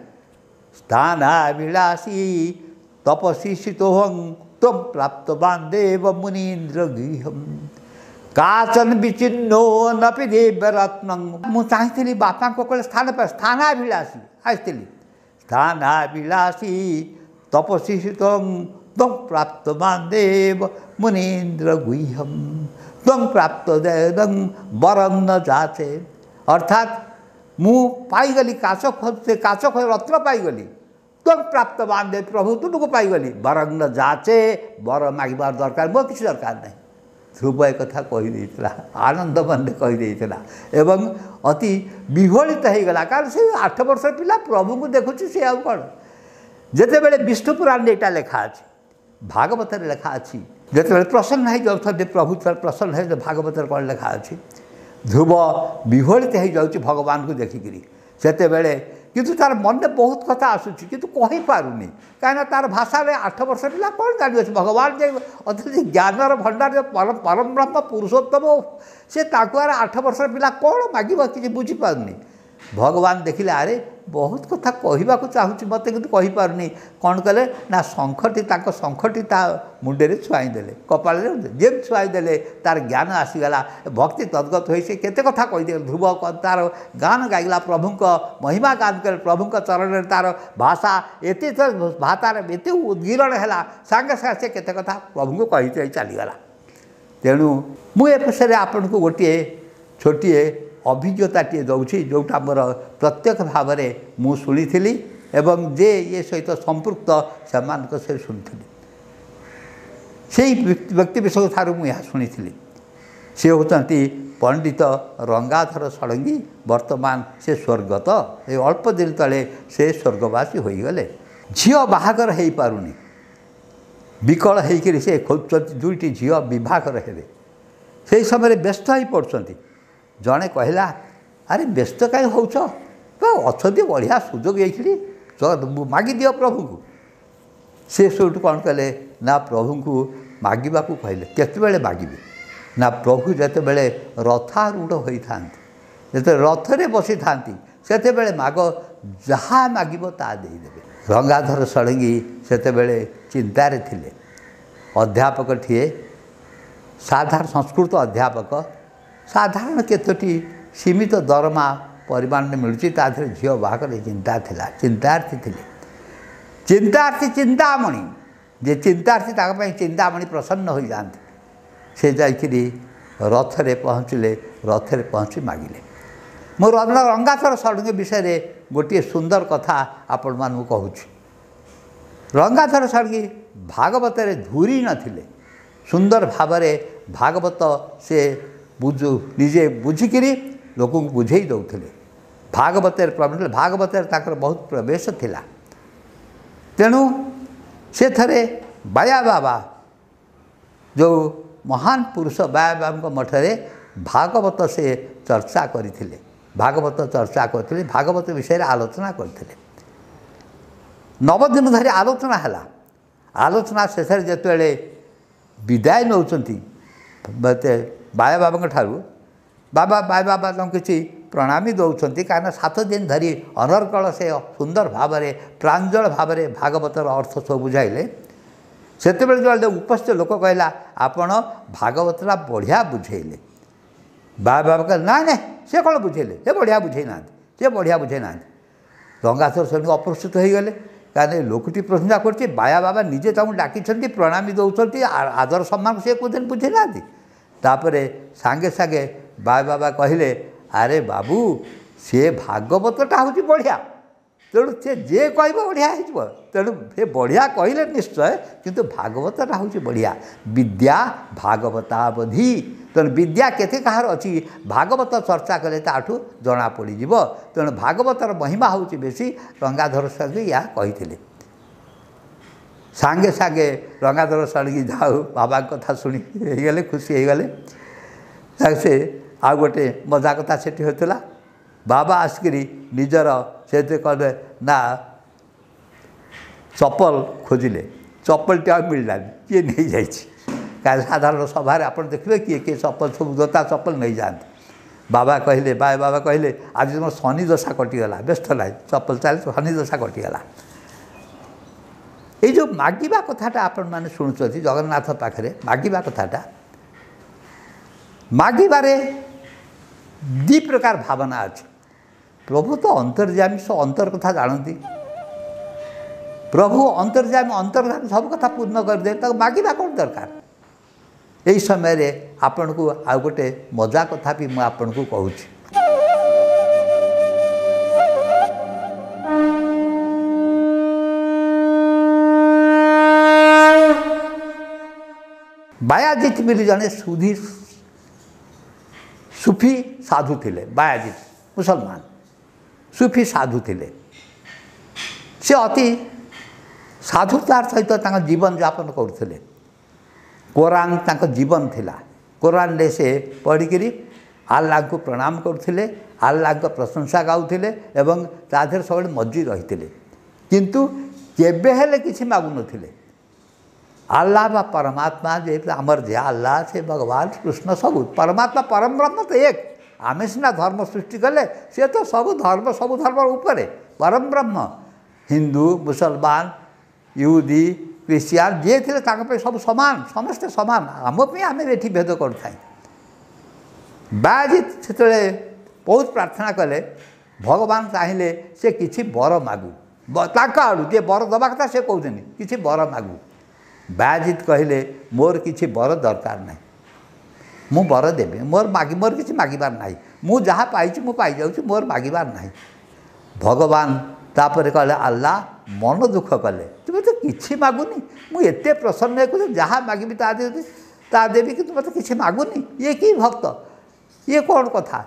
ସ୍ଥାନାଭିଳାଷୀ ତପସ୍ୱୀ ସ୍ଥିତୋହଂ ତ୍ୱଂ ପ୍ରାପ୍ତବାନ୍ ଦେବ ମୁନୀନ୍ଦ୍ର ଗୃହମ୍ କାଚନ ବିଚିହ୍ନୋ ନପି ଦିବ୍ୟରତ୍ନଂ। ମୁଁ ଚାହିଁଥିଲି ବାପାଙ୍କ କହିଲେ ସ୍ଥାନ ପାଇ, ସ୍ଥାନାଭିଳାଷୀ ଆସିଥିଲି, ସ୍ଥାନାଭିଳାଷୀ ତପସ୍ୱୀ ସ୍ଥିତୋହଂ ତ୍ୱଂ ପ୍ରାପ୍ତବାନ୍ ଦେବ ମୁନୀନ୍ଦ୍ର ଗୁହ୍ୟମ୍ ତ୍ୱଂ ପ୍ରାପ୍ତ ଦେବଂ ବରଂ ନ ଯାଚେ। ଅର୍ଥାତ୍ ମୁଁ ପାଇଗଲି କାଚ ଖୋଜେ, କାଚ ରତ୍ନ ପାଇଗଲି, ତ୍ୱଂ ପ୍ରାପ୍ତବାନ୍ ଦେବ ପ୍ରଭୁ ତୁମକୁ ପାଇଗଲି, ବରଂ ନ ଯାଚେ, ବର ମାଗିବାର ଦରକାର ମୋର କିଛି ଦରକାର ନାହିଁ। ଧ୍ରୁବ ଏ କଥା କହିଦେଇଥିଲା, ଆନନ୍ଦ ମନରେ କହିଦେଇଥିଲା ଏବଂ ଅତି ବିହ୍ୱଳିତ ହେଇଗଲା, କାରଣ ସେ 8 ବର୍ଷର ପିଲା ପ୍ରଭୁଙ୍କୁ ଦେଖୁଛି, ସେ ଆଉ କ'ଣ। ଯେତେବେଳେ ବିଷ୍ଣୁ ପୁରାଣରେ ଏଇଟା ଲେଖା ଅଛି, ଭାଗବତରେ ଲେଖା ଅଛି, ଯେତେବେଳେ ପ୍ରସନ୍ନ ହେଇଯାଉଛନ୍ତି ପ୍ରଭୁ ପ୍ରସନ୍ନ ହେଇ, ଭାଗବତରେ କ'ଣ ଲେଖା ଅଛି, ଧ୍ରୁବ ବିହ୍ୱଳିତ ହେଇଯାଉଛି ଭଗବାନଙ୍କୁ ଦେଖିକିରି ସେତେବେଳେ, କିନ୍ତୁ ତାର ମନରେ ବହୁତ କଥା ଆସୁଛି କିନ୍ତୁ କହିପାରୁନି, କାହିଁକିନା ତାର ଭାଷାରେ 8 ବର୍ଷ ପିଲା କ'ଣ ଜାଣିବ। ଭଗବାନ ଯେ ଅତି ଜ୍ଞାନର ଭଣ୍ଡାର, ପରମ ବ୍ରହ୍ମ ପୁରୁଷୋତ୍ତମ, ସେ ତାକୁ ଆର 8 ବର୍ଷର ପିଲା କ'ଣ ମାଗିବ କିଛି ବୁଝିପାରୁନି। ଭଗବାନ ଦେଖିଲେ ଆରେ ବହୁତ କଥା କହିବାକୁ ଚାହୁଁଛି ମୋତେ, କିନ୍ତୁ କହିପାରୁନି। କ'ଣ କଲେ ନା ଶଙ୍ଖଟି, ତାଙ୍କ ଶଙ୍ଖଟି ତା ମୁଣ୍ଡରେ ଛୁଆଇ ଦେଲେ, କପାଳରେ ଯେମିତି ଛୁଆଇ ଦେଲେ ତାର ଜ୍ଞାନ ଆସିଗଲା, ଭକ୍ତି ତଦ୍ଗତ ହୋଇ ସେ କେତେ କଥା କହିଦେଲେ। ଧ୍ରୁବ ତାର ଗାନ ଗାଇଲା, ପ୍ରଭୁଙ୍କ ମହିମା ଗାନ କଲେ, ପ୍ରଭୁଙ୍କ ଚରଣରେ ତାର ଭାଷା ଏତେ ଭାଷାର ଏତେ ଉଦ୍ଗୀରଣ ହେଲା, ସାଙ୍ଗେ ସାଙ୍ଗେ ସେ କେତେ କଥା ପ୍ରଭୁଙ୍କୁ କହି ଚାଲିଗଲା। ତେଣୁ ମୁଁ ଏ ବିଷୟରେ ଆପଣଙ୍କୁ ଗୋଟିଏ ଛୋଟିଏ ଅଭିଜ୍ଞତାଟିଏ ଦେଉଛି, ଯେଉଁଟା ମୋର ପ୍ରତ୍ୟକ୍ଷ ଭାବରେ ମୁଁ ଶୁଣିଥିଲି ଏବଂ ଯେ ଇଏ ସହିତ ସମ୍ପୃକ୍ତ ସେମାନଙ୍କ ସହିତ ଶୁଣିଥିଲି। ସେଇ ବ୍ୟକ୍ତି ବିଶେଷ ଠାରୁ ମୁଁ ଏହା ଶୁଣିଥିଲି। ସେ ହେଉଛନ୍ତି ପଣ୍ଡିତ ରଙ୍ଗାଧର ଷଡ଼ଙ୍ଗୀ। ବର୍ତ୍ତମାନ ସେ ସ୍ୱର୍ଗତ, ଏ ଅଳ୍ପ ଦିନ ତଳେ ସେ ସ୍ୱର୍ଗବାସୀ ହୋଇଗଲେ। ଝିଅ ବାହାଘର ହେଇପାରୁନି, ବିକଳ ହେଇକରି ସେ ଖୋଜୁଛନ୍ତି ଦୁଇଟି ଝିଅ ବିବାହଘର ହେବେ। ସେହି ସମୟରେ ବ୍ୟସ୍ତ ହେଇ ପଡ଼ୁଛନ୍ତି। ଜଣେ କହିଲା, ଆରେ ବ୍ୟସ୍ତ କାହିଁ ହେଉଛ, ଅଛନ୍ତି ବଢ଼ିଆ ସୁଯୋଗ ଏଇଖିଣି, ମାଗିଦିଅ ପ୍ରଭୁଙ୍କୁ। ସେ ସେଇଠୁ କ'ଣ କଲେ ନା ପ୍ରଭୁଙ୍କୁ ମାଗିବାକୁ କହିଲେ। କେତେବେଳେ ମାଗିବେ ନା ପ୍ରଭୁ ଯେତେବେଳେ ରଥାରୂଢ଼ ହୋଇଥାନ୍ତି, ଯେତେବେଳେ ରଥରେ ବସିଥାନ୍ତି, ସେତେବେଳେ ମାଗ, ଯାହା ମାଗିବ ତାହା ଦେଇଦେବେ। ରଙ୍ଗାଧର ଷଡ଼ଙ୍ଗୀ ସେତେବେଳେ ଚିନ୍ତାରେ ଥିଲେ। ଅଧ୍ୟାପକଟିଏ, ସାଧାରଣ ସଂସ୍କୃତ ଅଧ୍ୟାପକ, ସାଧାରଣ କେତୋଟି ସୀମିତ ଦରମା ପରିମାଣରେ ମିଳୁଛି, ତା ଦେହରେ ଝିଅ ବାହାଘର ଚିନ୍ତା ଥିଲା, ଚିନ୍ତାର୍ଥୀ ଥିଲେ। ଚିନ୍ତାର୍ଥୀ ଚିନ୍ତାମଣି, ଯେ ଚିନ୍ତାର୍ଥୀ ତାଙ୍କ ପାଇଁ ଚିନ୍ତାମଣି ପ୍ରସନ୍ନ ହୋଇଯାଆନ୍ତି। ସେ ଯାଇକିରି ରଥରେ ପହଞ୍ଚିଲେ, ରଥରେ ପହଞ୍ଚି ମାଗିଲେ। ମୁଁ ରଙ୍ଗାଧର ଷଡ଼ଙ୍ଗୀ ବିଷୟରେ ଗୋଟିଏ ସୁନ୍ଦର କଥା ଆପଣମାନଙ୍କୁ କହୁଛି। ରଙ୍ଗାଧର ଷଡ଼ଙ୍ଗୀ ଭାଗବତରେ ଧୁରି ନଥିଲେ, ସୁନ୍ଦର ଭାବରେ ଭାଗବତ ସେ ନିଜେ ବୁଝିକିରି ଲୋକଙ୍କୁ ବୁଝେଇ ଦେଉଥିଲେ। ଭାଗବତରେ ପ୍ରବୀଣ, ଭାଗବତରେ ତାଙ୍କର ବହୁତ ପ୍ରବେଶ ଥିଲା। ତେଣୁ ସେ ଥରେ ବାୟା ବାବା, ଯେଉଁ ମହାନ ପୁରୁଷ ବାୟା ବାବାଙ୍କ ମଠରେ ଭାଗବତ ସେ ଚର୍ଚ୍ଚା କରିଥିଲେ, ଭାଗବତ ଚର୍ଚ୍ଚା କରିଥିଲେ, ଭାଗବତ ବିଷୟରେ ଆଲୋଚନା କରିଥିଲେ। 9 ଦିନ ଧରି ଆଲୋଚନା ହେଲା। ଆଲୋଚନା ଶେଷରେ ଯେତେବେଳେ ବିଦାୟ ନେଉଛନ୍ତି ବାୟା ବାବାଙ୍କ ଠାରୁ, ବାବା ବାୟା ବାବା ତାଙ୍କୁ କିଛି ପ୍ରଣାମୀ ଦେଉଛନ୍ତି, କାରଣ 7 ଦିନ ଧରି ଅନର୍ଗଳ ସେ ସୁନ୍ଦର ଭାବରେ ପ୍ରାଞ୍ଜଳ ଭାବରେ ଭାଗବତର ଅର୍ଥ ସବୁ ବୁଝାଇଲେ। ସେତେବେଳେ ଯେତେବେଳେ ଉପସ୍ଥିତ ଲୋକ କହିଲା, ଆପଣ ଭାଗବତଟା ବଢ଼ିଆ ବୁଝେଇଲେ। ବାବା ବାବା କହିଲେ, ନାଇଁ ନାଇଁ, ସେ କ'ଣ ବୁଝେଇଲେ, ସେ ବଢ଼ିଆ ବୁଝେଇ ନାହାନ୍ତି, ସେ ବଢ଼ିଆ ବୁଝେଇ ନାହାନ୍ତି। ରଙ୍ଗାଧର ଷଡ଼ଙ୍ଗୀ ଅପ୍ରସ୍ତୁତ ହୋଇଗଲେ, କାରଣ ଏ ଲୋକଟି ପ୍ରଶଂସା କରୁଛି, ବାୟା ବାବା ନିଜେ ତାଙ୍କୁ ଡାକିଛନ୍ତି, ପ୍ରଣାମୀ ଦେଉଛନ୍ତି, ଆଦର ସମ୍ମାନ ସେ କହୁଛନ୍ତି ବୁଝେଇ ନାହାନ୍ତି। ତାପରେ ସାଙ୍ଗେ ସାଙ୍ଗେ ବାୟା ବାବା କହିଲେ, ଆରେ ବାବୁ, ସେ ଭାଗବତଟା ହେଉଛି ବଢ଼ିଆ, ତେଣୁ ସେ ଯିଏ କହିବ ବଢ଼ିଆ ହେଇଯିବ। ତେଣୁ ସେ ବଢ଼ିଆ କହିଲେ ନିଶ୍ଚୟ, କିନ୍ତୁ ଭାଗବତଟା ହେଉଛି ବଢ଼ିଆ। ବିଦ୍ୟା ଭାଗବତାବଧି, ତେଣୁ ବିଦ୍ୟା କେତେ କାହାର ଅଛି ଭାଗବତ ଚର୍ଚ୍ଚା କଲେ ତାଠୁ ଜଣାପଡ଼ିଯିବ। ତେଣୁ ଭାଗବତର ମହିମା ହେଉଛି ବେଶୀ। ରଙ୍ଗାଧର ଷଡ଼ଙ୍ଗୀ ଏହା କହିଥିଲେ। ସାଙ୍ଗେ ସାଙ୍ଗେ ରଙ୍ଗାଧର ଷଡ଼ଙ୍ଗୀ ଯାଉ ବାବାଙ୍କ କଥା ଶୁଣି ହେଇଗଲେ, ଖୁସି ହେଇଗଲେ। ସେ ଆଉ ଗୋଟେ ମଜା କଥା ସେଠି ହେଉଥିଲା। ବାବା ଆସିକିରି ନିଜର ସେଥିରେ କହିଲେ ନା ଚପଲ ଖୋଜିଲେ, ଚପଲଟି ଆଉ ମିଳିଲାନି, କିଏ ନେଇଯାଇଛି। କାରଣ ସାଧାରଣ ସଭାରେ ଆପଣ ଦେଖିବେ କିଏ କିଏ ଚପଲ ସବୁ ଜୋତା ଚପଲ ନେଇଯାଆନ୍ତି। ବାବା କହିଲେ, ବାବା କହିଲେ, ଆଜି ତୁମ ଶନି ଦଶା କଟିଗଲା, ବ୍ୟସ୍ତ ନାହିଁ, ଚପଲ ଚାଲି ଶନି ଦଶା କଟିଗଲା। ଏଇ ଯେଉଁ ମାଗିବା କଥାଟା ଆପଣମାନେ ଶୁଣୁଛନ୍ତି ଜଗନ୍ନାଥ ପାଖରେ ମାଗିବା କଥାଟା, ମାଗିବାରେ ଦୁଇ ପ୍ରକାର ଭାବନା ଅଛି। ପ୍ରଭୁ ତ ଅନ୍ତର୍ଯାମୀ, ସେ ଅନ୍ତର କଥା ଜାଣନ୍ତି। ପ୍ରଭୁ ଅନ୍ତର୍ଯାମୀ, ଅନ୍ତର୍ଯାମୀ ସବୁ କଥା ପୂର୍ଣ୍ଣ କରିଦେବେ, ତାକୁ ମାଗିବା କ'ଣ ଦରକାର? ଏହି ସମୟରେ ଆପଣଙ୍କୁ ଆଉ ଗୋଟେ ମଜା କଥା ବି ମୁଁ ଆପଣଙ୍କୁ କହୁଛି। ବାୟାଜିତ ବୋଲି ଜଣେ ସୁଧି ସୁଫି ସାଧୁ ଥିଲେ। ବାୟାଜିତ ମୁସଲମାନ ସୁଫି ସାଧୁ ଥିଲେ। ସେ ଅତି ସାଧୁତାର ସହିତ ତାଙ୍କ ଜୀବନଯାପନ କରୁଥିଲେ। କୋରାନ ତାଙ୍କ ଜୀବନ ଥିଲା। କୋରାନରେ ସେ ପଢ଼ିକିରି ଆଲ୍ଲାହଙ୍କୁ ପ୍ରଣାମ କରୁଥିଲେ, ଆଲ୍ଲାହଙ୍କ ପ୍ରଶଂସା ଗାଉଥିଲେ ଏବଂ ତା ଦେହରେ ସବୁବେଳେ ମଜ୍ଜି ରହିଥିଲେ। କିନ୍ତୁ କେବେ ହେଲେ କିଛି ମାଗୁନଥିଲେ। ଆଲ୍ଲାହ ବା ପରମାତ୍ମା, ଯେହେତୁ ଆମର ଯେ ଆଲ୍ଲାହ, ସେ ଭଗବାନ କୃଷ୍ଣ ସବୁ ପରମାତ୍ମା ପରମ ବ୍ରହ୍ମ ତ ଏକ, ଆମେ ସିନା ଧର୍ମ ସୃଷ୍ଟି କଲେ, ସିଏ ତ ସବୁ ଧର୍ମ, ସବୁ ଧର୍ମର ଉପରେ ପରମ ବ୍ରହ୍ମ। ହିନ୍ଦୁ, ମୁସଲମାନ, ଇହୁଦୀ, ଖ୍ରୀଷ୍ଟିଆନ ଯିଏ ଥିଲେ ତାଙ୍କ ପାଇଁ ସବୁ ସମାନ, ସମସ୍ତେ ସମାନ। ଆମ ପାଇଁ ଆମେ ଏଠି ଭେଦ କରୁଥାଏ। ବାୟାଜିତ ସେତେବେଳେ ବହୁତ ପ୍ରାର୍ଥନା କଲେ, ଭଗବାନ ଚାହିଁଲେ ସେ କିଛି ବର ମାଗୁ। ତାଙ୍କ ଆଡ଼ୁ ଯିଏ ବର ଦେବା କଥା ସେ କହୁଛନ୍ତି କିଛି ବର ମାଗୁ। ବାୟାଜିତ କହିଲେ ମୋର କିଛି ବର ଦରକାର ନାହିଁ, ମୁଁ ବର ଦେବି, ମୋର ମାଗି, ମୋର କିଛି ମାଗିବାର ନାହିଁ, ମୁଁ ଯାହା ପାଇଛି ମୁଁ ପାଇଯାଉଛି, ମୋର ମାଗିବାର ନାହିଁ। ଭଗବାନ ତାପରେ କହିଲେ ଆଲ୍ଲାହ ମନ ଦୁଃଖ କଲେ, ତୁମେ ତ କିଛି ମାଗୁନି, ମୁଁ ଏତେ ପ୍ରସନ୍ନ ହେଇକରି ଯାହା ମାଗିବି ତା ଦେବି, ତା ଦେବି, କିନ୍ତୁ ମୋତେ କିଛି ମାଗୁନି, ଇଏ କି ଭକ୍ତ, ଇଏ କ'ଣ କଥା?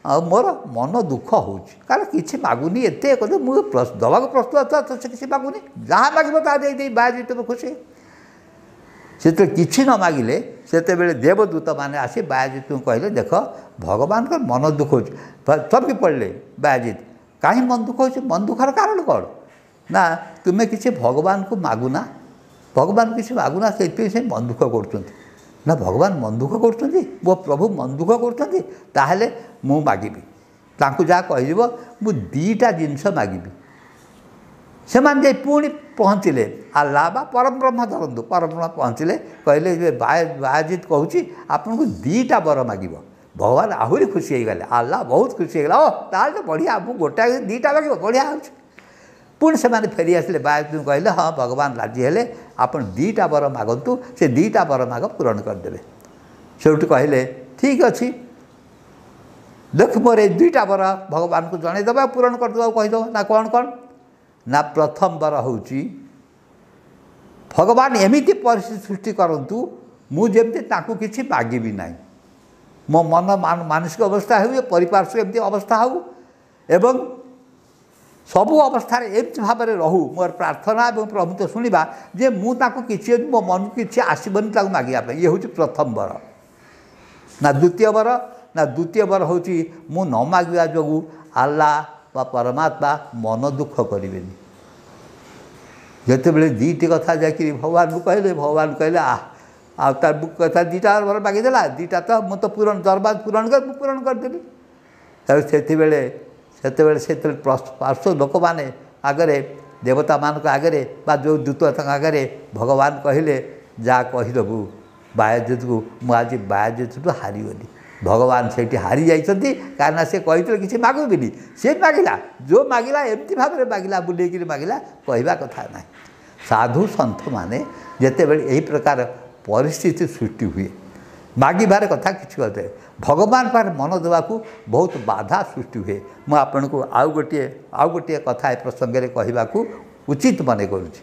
ଆଉ ମୋର ମନ ଦୁଃଖ ହେଉଛି, କାରଣ କିଛି ମାଗୁନି, ଏତେ କଥା ମୁଁ ଦେବାକୁ ପ୍ରସ୍ତୁତ, ତ ସେ କିଛି ମାଗୁନି, ଯାହା ମାଗିବ ତାହା ଦେଇଦେଇ ବାହାରି ତୁମେ ଖୁସି। ସେତେବେଳେ କିଛି ନ ମାଗିଲେ ସେତେବେଳେ ଦେବଦୂତମାନେ ଆସି ବାୟାଜିତଙ୍କୁ କହିଲେ ଦେଖ ଭଗବାନଙ୍କର ମନ ଦୁଃଖ ହେଉଛି। ଚମକି ପଡ଼ିଲେ ବାୟାଜିତ, କାହିଁ ମନ ଦୁଃଖ ହେଉଛି? ମନ ଦୁଃଖର କାରଣ କ'ଣ? ନା ତୁମେ କିଛି ଭଗବାନଙ୍କୁ ମାଗୁନା, ଭଗବାନଙ୍କୁ କିଛି ମାଗୁନା, ସେଇଥିପାଇଁ ସେ ମନ ଦୁଃଖ କରୁଛନ୍ତି। ନା ଭଗବାନ ମନ ଦୁଃଖ କରୁଛନ୍ତି, ମୋ ପ୍ରଭୁ ମନ ଦୁଃଖ କରୁଛନ୍ତି, ତାହେଲେ ମୁଁ ମାଗିବି। ତାଙ୍କୁ ଯାହା କହିଯିବ ମୁଁ ଦୁଇଟା ଜିନିଷ ମାଗିବି। ସେମାନେ ଯାଇ ପୁଣି ପହଞ୍ଚିଲେ ଆଲ୍ଲାହ ବା ପରମବ୍ରହ୍ମ ଧରନ୍ତୁ, ପରମବ୍ରହ୍ମ ପହଞ୍ଚିଲେ, କହିଲେ ଯେ ବାୟାଜିତ କହୁଛି ଆପଣଙ୍କୁ ଦୁଇଟା ବର ମାଗିବ। ଭଗବାନ ଆହୁରି ଖୁସି ହେଇଗଲେ, ଆଲ୍ଲାହ ବହୁତ ଖୁସି ହେଇଗଲା, ଓ ତାହେଲେ ତ ବଢ଼ିଆ, ମୁଁ ଗୋଟାଏ ଦୁଇଟା ମାଗିବ, ବଢ଼ିଆ ହେଉଛି। ପୁଣି ସେମାନେ ଫେରି ଆସିଲେ, ବାୟାଜିତଙ୍କୁ କହିଲେ ହଁ ଭଗବାନ ରାଜି ହେଲେ, ଆପଣ ଦୁଇଟା ବର ମାଗନ୍ତୁ, ସେ ଦୁଇଟା ବର ମାଗ ପୂରଣ କରିଦେବେ। ସେଇଠୁ କହିଲେ ଠିକ୍ ଅଛି, ଦେଖ ମୋର ଏଇ ଦୁଇଟା ବର ଭଗବାନଙ୍କୁ ଜଣେଇଦେବା, ପୂରଣ କରିଦେବାକୁ କହିଦେବ। ନା କ'ଣ କ'ଣ? ନା ପ୍ରଥମ ବର ହେଉଛି ଭଗବାନ ଏମିତି ପରିସ୍ଥିତି ସୃଷ୍ଟି କରନ୍ତୁ ମୁଁ ଯେମିତି ତାଙ୍କୁ କିଛି ମାଗିବି ନାହିଁ, ମୋ ମନ ମାନସିକ ଅବସ୍ଥା ହେଉ, ପରିପାର୍ଶ୍ୱ ଏମିତି ଅବସ୍ଥା ହେଉ, ଏବଂ ସବୁ ଅବସ୍ଥାରେ ଏମିତି ଭାବରେ ରହୁ ମୋର ପ୍ରାର୍ଥନା ଏବଂ ପ୍ରଭୁତ୍ୱ ଶୁଣିବା ଯେ ମୁଁ ତାଙ୍କୁ କିଛି, ମୋ ମନକୁ କିଛି ଆସିବନି ତାକୁ ମାଗିବା ପାଇଁ। ଇଏ ହେଉଛି ପ୍ରଥମ ବର। ନା ଦ୍ୱିତୀୟ ବର? ନା ଦ୍ୱିତୀୟ ବର ହେଉଛି ମୁଁ ନ ମାଗିବା ଯୋଗୁଁ ଆଲ୍ଲାହ ବା ପରମାତ୍ମା ମନ ଦୁଃଖ କରିବେନି। ଯେତେବେଳେ ଦୁଇଟି କଥା ଯାଇକିରି ଭଗବାନଙ୍କୁ କହିଲେ, ଭଗବାନ କହିଲେ ଆହ, ଆଉ ତାର କଥା ଦୁଇଟା ବର ମାଗିଦେଲା, ଦୁଇଟା ତ ମୁଁ ତ ପୂରଣ ଦରବାର ପୂରଣ କରି ମୁଁ ପୂରଣ କରିଦେଲି। ତେଣୁ ସେତେବେଳେ ସେତେବେଳେ ସେତେବେଳେ ପାର୍ଶ୍ୱ ଲୋକମାନେ ଆଗରେ, ଦେବତାମାନଙ୍କ ଆଗରେ ବା ଯେଉଁ ଦୂତ ତାଙ୍କ ଆଗରେ ଭଗବାନ କହିଲେ ଯାହା କହିଦେବୁ ବାୟାଜିତକୁ, ମୁଁ ଆଜି ବାୟାଜିତଠୁ ହାରିଗଲି। ଭଗବାନ ସେଇଠି ହାରି ଯାଇଛନ୍ତି, କାରଣ ସେ କହିଥିଲେ କିଛି ମାଗୁବିନି, ସେ ମାଗିଲା, ଯେଉଁ ମାଗିଲା ଏମିତି ଭାବରେ ମାଗିଲା, ବୁଲେଇକିରି ମାଗିଲା, କହିବା କଥା ନାହିଁ। ସାଧୁ ସନ୍ଥମାନେ ଯେତେବେଳେ ଏହି ପ୍ରକାର ପରିସ୍ଥିତି ସୃଷ୍ଟି ହୁଏ, ମାଗିବାର କଥା କିଛି କଥା, ଭଗବାନ ପାଖରେ ମନ ଦେବାକୁ ବହୁତ ବାଧା ସୃଷ୍ଟି ହୁଏ। ମୁଁ ଆପଣଙ୍କୁ ଆଉ ଗୋଟିଏ କଥା ଏ ପ୍ରସଙ୍ଗରେ କହିବାକୁ ଉଚିତ ମନେ କରୁଛି।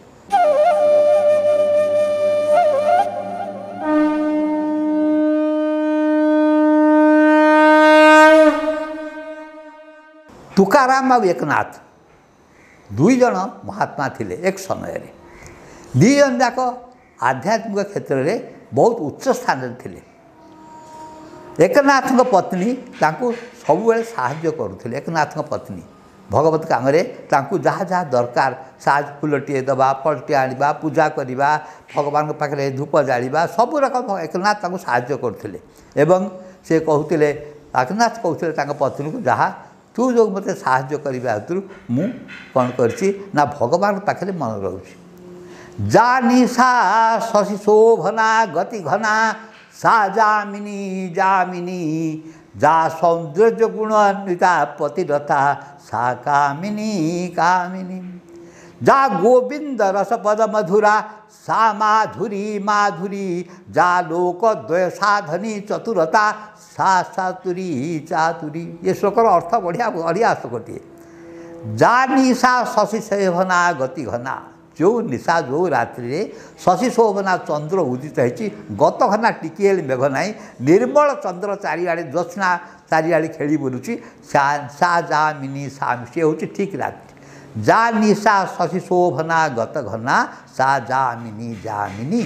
ତୁକାରାମ ଆଉ ଏକନାଥ ଦୁଇ ଜଣ ମହାତ୍ମା ଥିଲେ ଏକ ସମୟରେ। ଦୁଇ ଜଣ ଯାକ ଆଧ୍ୟାତ୍ମିକ କ୍ଷେତ୍ରରେ ବହୁତ ଉଚ୍ଚ ସ୍ଥାନରେ ଥିଲେ। ଏକନାଥଙ୍କ ପତ୍ନୀ ତାଙ୍କୁ ସବୁବେଳେ ସାହାଯ୍ୟ କରୁଥିଲେ। ଏକନାଥଙ୍କ ପତ୍ନୀ ଭଗବତ କାମରେ ତାଙ୍କୁ ଯାହା ଯାହା ଦରକାର, ସାହାଯ୍ୟ, ଫୁଲଟିଏ ଦେବା, ଫଳଟିଏ ଆଣିବା, ପୂଜା କରିବା, ଭଗବାନଙ୍କ ପାଖରେ ଧୂପ ଜାଳିବା, ସବୁ ରକମ ଏକନାଥ ତାଙ୍କୁ ସାହାଯ୍ୟ କରୁଥିଲେ। ଏବଂ ସେ କହୁଥିଲେ, ଏକନାଥ କହୁଥିଲେ ତାଙ୍କ ପତ୍ନୀକୁ, ଯାହା ତୁ ଯେଉଁ ମୋତେ ସାହାଯ୍ୟ କରିବା ହେତୁରୁ ମୁଁ କ'ଣ କରିଛି ନା ଭଗବାନଙ୍କ ପାଖରେ ମନ ରହୁଛି। ଯା ନିଶା ଶଶି ଶୋଭନା ଗତି ଘନା ସା ଯାମିନୀ ଯାମିନୀ, ଯା ସୌନ୍ଦର୍ଯ୍ୟ ଗୁଣାନ୍ୱିତା ପତିରତା ସା କାମିନୀ କାମିନୀ, ଯା ଗୋବିନ୍ଦ ରସପଦ ମଧୁରା ସା ମାଧୁରୀ ମାଧୁରୀ, ଯା ଲୋକଦ୍ୱୟ ସାଧନୀ ଚତୁରତା ସା ଚାତୁରୀ ଚାତୁରୀ। ଏ ଶ୍ଲୋକର ଅର୍ଥ ବଢ଼ିଆ ବଢ଼ିଆ ଶ୍ଲୋକଟିଏ। ଯା ନିଶା ଶଶି ଶୋଭନା ଗତି ଘନା, ଯେଉଁ ନିଶା ଯେଉଁ ରାତ୍ରିରେ ଶଶି ଶୋଭନା ଚନ୍ଦ୍ର ଉଦିତ ହେଇଛି, ଗତ ଘନା ଟିକିଏ ହେଲେ ମେଘ ନାହିଁ, ନିର୍ମଳ ଚନ୍ଦ୍ର ଚାରିଆଡ଼େ ଜ୍ୟୋତ୍ସ୍ନା ଚାରିଆଡ଼େ ଖେଳି ବୁଲୁଛି, ସା ଯାମିନୀ ସା, ସିଏ ହେଉଛି ଠିକ୍ ରାତ୍ରି। ଯା ନିଶା ଶଶି ଶୋଭନା ଗତ ଘନା ସା ଯାମିନୀ ଯାମିନୀ,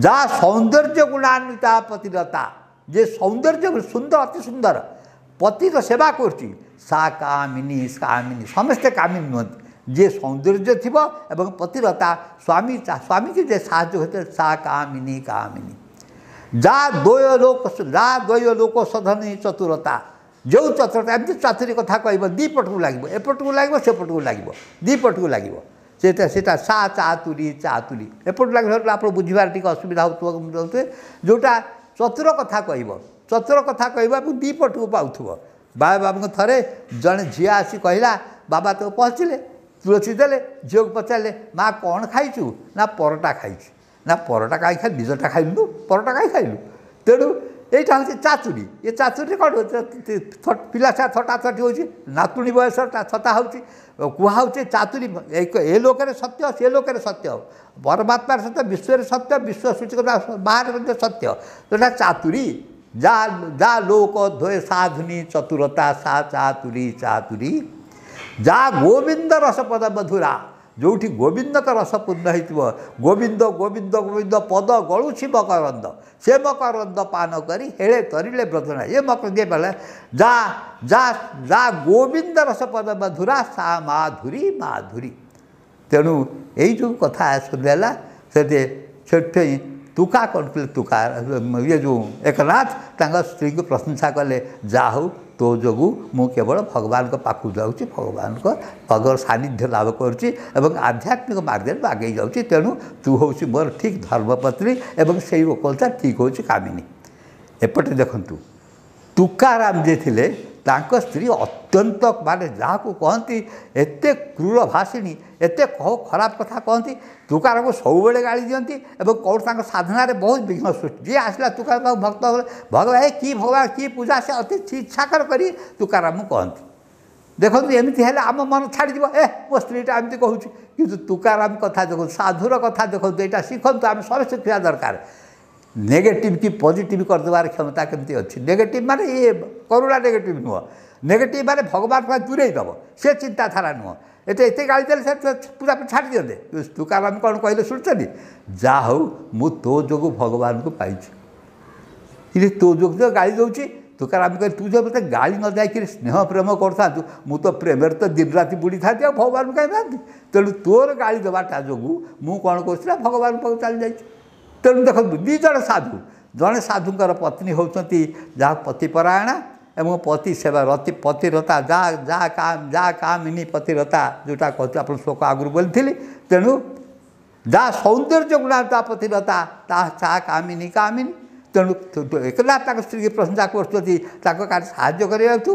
ଯା ସୌନ୍ଦର୍ଯ୍ୟ ଗୁଣାନ୍ୱିତା ପତିରତା, ଯେ ସୌନ୍ଦର୍ଯ୍ୟ ସୁନ୍ଦର ଅତି ସୁନ୍ଦର ପତିର ସେବା କରୁଛି, ସା କାମିନୀ କାମିନୀ। ସମସ୍ତେ କାମିନୀ ନୁହନ୍ତି, ଯିଏ ସୌନ୍ଦର୍ଯ୍ୟ ଥିବ ଏବଂ ପତିରତା ସ୍ୱାମୀ ସ୍ୱାମୀକି ଯେ ସାହାଯ୍ୟ ହୋଇଥାଏ, ସା କାମିନୀ କାମିନୀ। ଯା ଦ୍ୱୟ ଲୋକ ଯା ଦ୍ୱୟ ଲୋକ ସଧନୀ ଚତୁରତା, ଯେଉଁ ଚତୁରତା ଏମିତି ଚାତୁରୀ କଥା କହିବ, ଦୁଇ ପଟକୁ ଲାଗିବ, ଏପଟକୁ ଲାଗିବ ସେପଟକୁ ଲାଗିବ, ଦୁଇ ପଟକୁ ଲାଗିବ। ସେଟା ସା ଚାତୁରୀ ଚାତୁରୀ ଏପଟକୁ ଲାଗିବ, ଆପଣ ବୁଝିବାରେ ଟିକେ ଅସୁବିଧା ହେଉଥିବ। ଯେଉଁଟା ଚତୁର କଥା କହିବ, ଚତୁର କଥା କହିବ ଏବଂ ଦୁଇ ପଟକୁ ପାଉଥିବ। ବାବା ବାବୁଙ୍କ ଥରେ ଜଣେ ଝିଅ ଆସି କହିଲା, ବାବା ତ ପହଞ୍ଚିଲେ, ତୁଳସୀ ଦେଲେ, ଝିଅକୁ ପଚାରିଲେ, ମା କ'ଣ ଖାଇଛୁ? ନା ପରଟା ଖାଇଛି। ନା ପରଟା କାହିଁ ଖାଇଲୁ, ନିଜଟା ଖାଇଲୁ, ପରଟା କାହିଁ ଖାଇଲୁ? ତେଣୁ ଏଇଟା ହେଉଛି ଚାତୁରୀ। ଏ ଚାତୁରୀରେ କ'ଣ ପିଲା ଛୁଆ ଥଟାଥଟି ହେଉଛି, ନାତୁଣୀ ବୟସ ଥଟା ହେଉଛି, କୁହା ହେଉଛି ଚାତୁରୀ। ଏ ଲୋକରେ ସତ୍ୟ, ସେ ଲୋକରେ ସତ୍ୟ, ପରମାତ୍ମାର ସତ୍ୟ, ବିଶ୍ୱରେ ସତ୍ୟ, ବିଶ୍ୱ ସୃଷ୍ଟି ବାହାରେ ମଧ୍ୟ ସତ୍ୟ। ଯେଉଁଟା ଚାତୁରୀ, ଯା ଯା ଲୋକ ଧୋଏ ସାଧୁନି ଚତୁରତା ସା ଚାତୁରୀ ଚାତୁରୀ। ଯା ଗୋବିନ୍ଦ ରସପଦ ମଧୁରା, ଯେଉଁଠି ଗୋବିନ୍ଦଙ୍କ ରସ ପୂର୍ଣ୍ଣ ହେଇଥିବ, ଗୋବିନ୍ଦ ଗୋବିନ୍ଦ ଗୋବିନ୍ଦ ପଦ ଗଳୁଛି ମକରନ୍ଦ, ସେ ମକରନ୍ଦ ପାନ କରି ହେଳେ ତରିଲେ ବ୍ରଜନା। ଏ ମକରନ୍ଦ ବେଳେ ଯା ଯା ଯା ଗୋବିନ୍ଦ ରସପଦ ମଧୁରା ସା ମାଧୁରୀ ମାଧୁରୀ। ତେଣୁ ଏଇ ଯେଉଁ କଥା ଶୁଣିଲା, ସେଠି ସେଥିପାଇଁ ତୁକା କ'ଣ କଲେ, ତୁକା ଇଏ ଯେଉଁ ଏକନାଥ ତାଙ୍କ ସ୍ତ୍ରୀଙ୍କୁ ପ୍ରଶଂସା କଲେ, ଯାହା ହଉ ତୋ ଯୋଗୁଁ ମୁଁ କେବଳ ଭଗବାନଙ୍କ ପାଖକୁ ଯାଉଛି, ଭଗବାନଙ୍କ ଭଗବାନ ସାନ୍ନିଧ୍ୟ ଲାଭ କରୁଛି ଏବଂ ଆଧ୍ୟାତ୍ମିକ ମାର୍ଗରେ ଆଗେଇ ଯାଉଛି। ତେଣୁ ତୁ ହେଉଛି ମୋର ଠିକ୍ ଧର୍ମପତ୍ନୀ ଏବଂ ସେଇ କଥା ଠିକ୍ ହେଉଛି କାମିନୀ। ଏପଟେ ଦେଖନ୍ତୁ ତୁକାରାମ ଯିଏ ଥିଲେ, ତାଙ୍କ ସ୍ତ୍ରୀ ଅତ୍ୟନ୍ତ ମାନେ ଯାହାକୁ କହନ୍ତି ଏତେ କ୍ରୂର ଭାଷିଣୀ, ଏତେ ଖରାପ କଥା କହନ୍ତି, ତୁକାରାମକୁ ସବୁବେଳେ ଗାଳି ଦିଅନ୍ତି ଏବଂ କେଉଁଠି ତାଙ୍କ ସାଧନାରେ ବହୁତ ବିଘ୍ନ ସୃଷ୍ଟି। ଯିଏ ଆସିଲା ତୁକାରାମ ଭକ୍ତ, ଭଗବାନ ଏ କି ଭଗବାନ କି ପୂଜା, ସେ ଅତି ଛିଛାକର କରି ତୁକାରାମକୁ କହନ୍ତି। ଦେଖନ୍ତୁ ଏମିତି ହେଲେ ଆମ ମନ ଛାଡ଼ିଯିବ, ଏ ମୋ ସ୍ତ୍ରୀଟା ଏମିତି କହୁଛି। କିନ୍ତୁ ତୁକାରାମ କଥା ଦେଖନ୍ତୁ, ସାଧୁର କଥା ଦେଖନ୍ତୁ, ଏଇଟା ଶିଖନ୍ତୁ, ଆମେ ସମସ୍ତେ ଶିଖିବା ଦରକାର। ନେଗେଟିଭ୍ କି ପଜିଟିଭ୍ କରିଦେବାର କ୍ଷମତା କେମିତି ଅଛି। ନେଗେଟିଭ୍ ମାନେ ଇଏ କରୁଣା ନେଗେଟିଭ୍ ନୁହଁ, ନେଗେଟିଭ୍ ମାନେ ଭଗବାନ ପାଇଁ ଦୂରେଇ ଦେବ ସେ ଚିନ୍ତାଧାରା ନୁହଁ। ଏତେ ଏତେ ଗାଳି ଦେଲେ ସେ ପୂଜା ଛାଡ଼ି ଦିଅନ୍ତେ। ତୁକାରାମ କ'ଣ କହିଲେ ଶୁଣୁଛନ୍ତି? ଯାହା ହଉ ମୁଁ ତୋ ଯୋଗୁଁ ଭଗବାନଙ୍କୁ ପାଇଛି। ଇରେ ତୋ ଯୋଗୁଁ ତ ଗାଳି ଦେଉଛି। ତୁକାରାମ କହିଲେ, ତୁ ଯେଉଁ ମୋତେ ଗାଳି ନ ଯାଇକିରି ସ୍ନେହ ପ୍ରେମ କରିଥାନ୍ତୁ, ମୁଁ ତ ପ୍ରେମରେ ତ ଦିନ ରାତି ବୁଡ଼ିଥାନ୍ତି, ଆଉ ଭଗବାନଙ୍କୁ କାହିଁ ପାଆନ୍ତି? ତେଣୁ ତୋର ଗାଳି ଦେବାଟା ଯୋଗୁଁ ମୁଁ କ'ଣ କରୁଛି ନା ଭଗବାନଙ୍କ ପାଖକୁ ଚାଲି ଯାଇଛି। ତେଣୁ ଦେଖନ୍ତୁ ଦୁଇ ଜଣ ସାଧୁ, ଜଣେ ସାଧୁଙ୍କର ପତ୍ନୀ ହେଉଛନ୍ତି ଯାହା ପତିପରାୟଣା ଏବଂ ପତି ସେବା ରତି ପତିରତା, ଯାହା ଯାହା ଯାହା କାମିନୀ ପତିରତା, ଯେଉଁଟା କହୁଛୁ ଆପଣ ଶ୍ଲୋକ ଆଗରୁ ବୋଲିଥିଲି। ତେଣୁ ଯାହା ସୌନ୍ଦର୍ଯ୍ୟ ଗୁଣା ତା ପତିରତା ତା ଚା କାମିନୀ କାମିନୀ। ତେଣୁ ଏକନାଥ ତାଙ୍କ ସ୍ତ୍ରୀକି ପ୍ରଶଂସା କରୁଛନ୍ତି ତାଙ୍କ କାର୍ଯ୍ୟ ସାହାଯ୍ୟ କରିବାକୁ,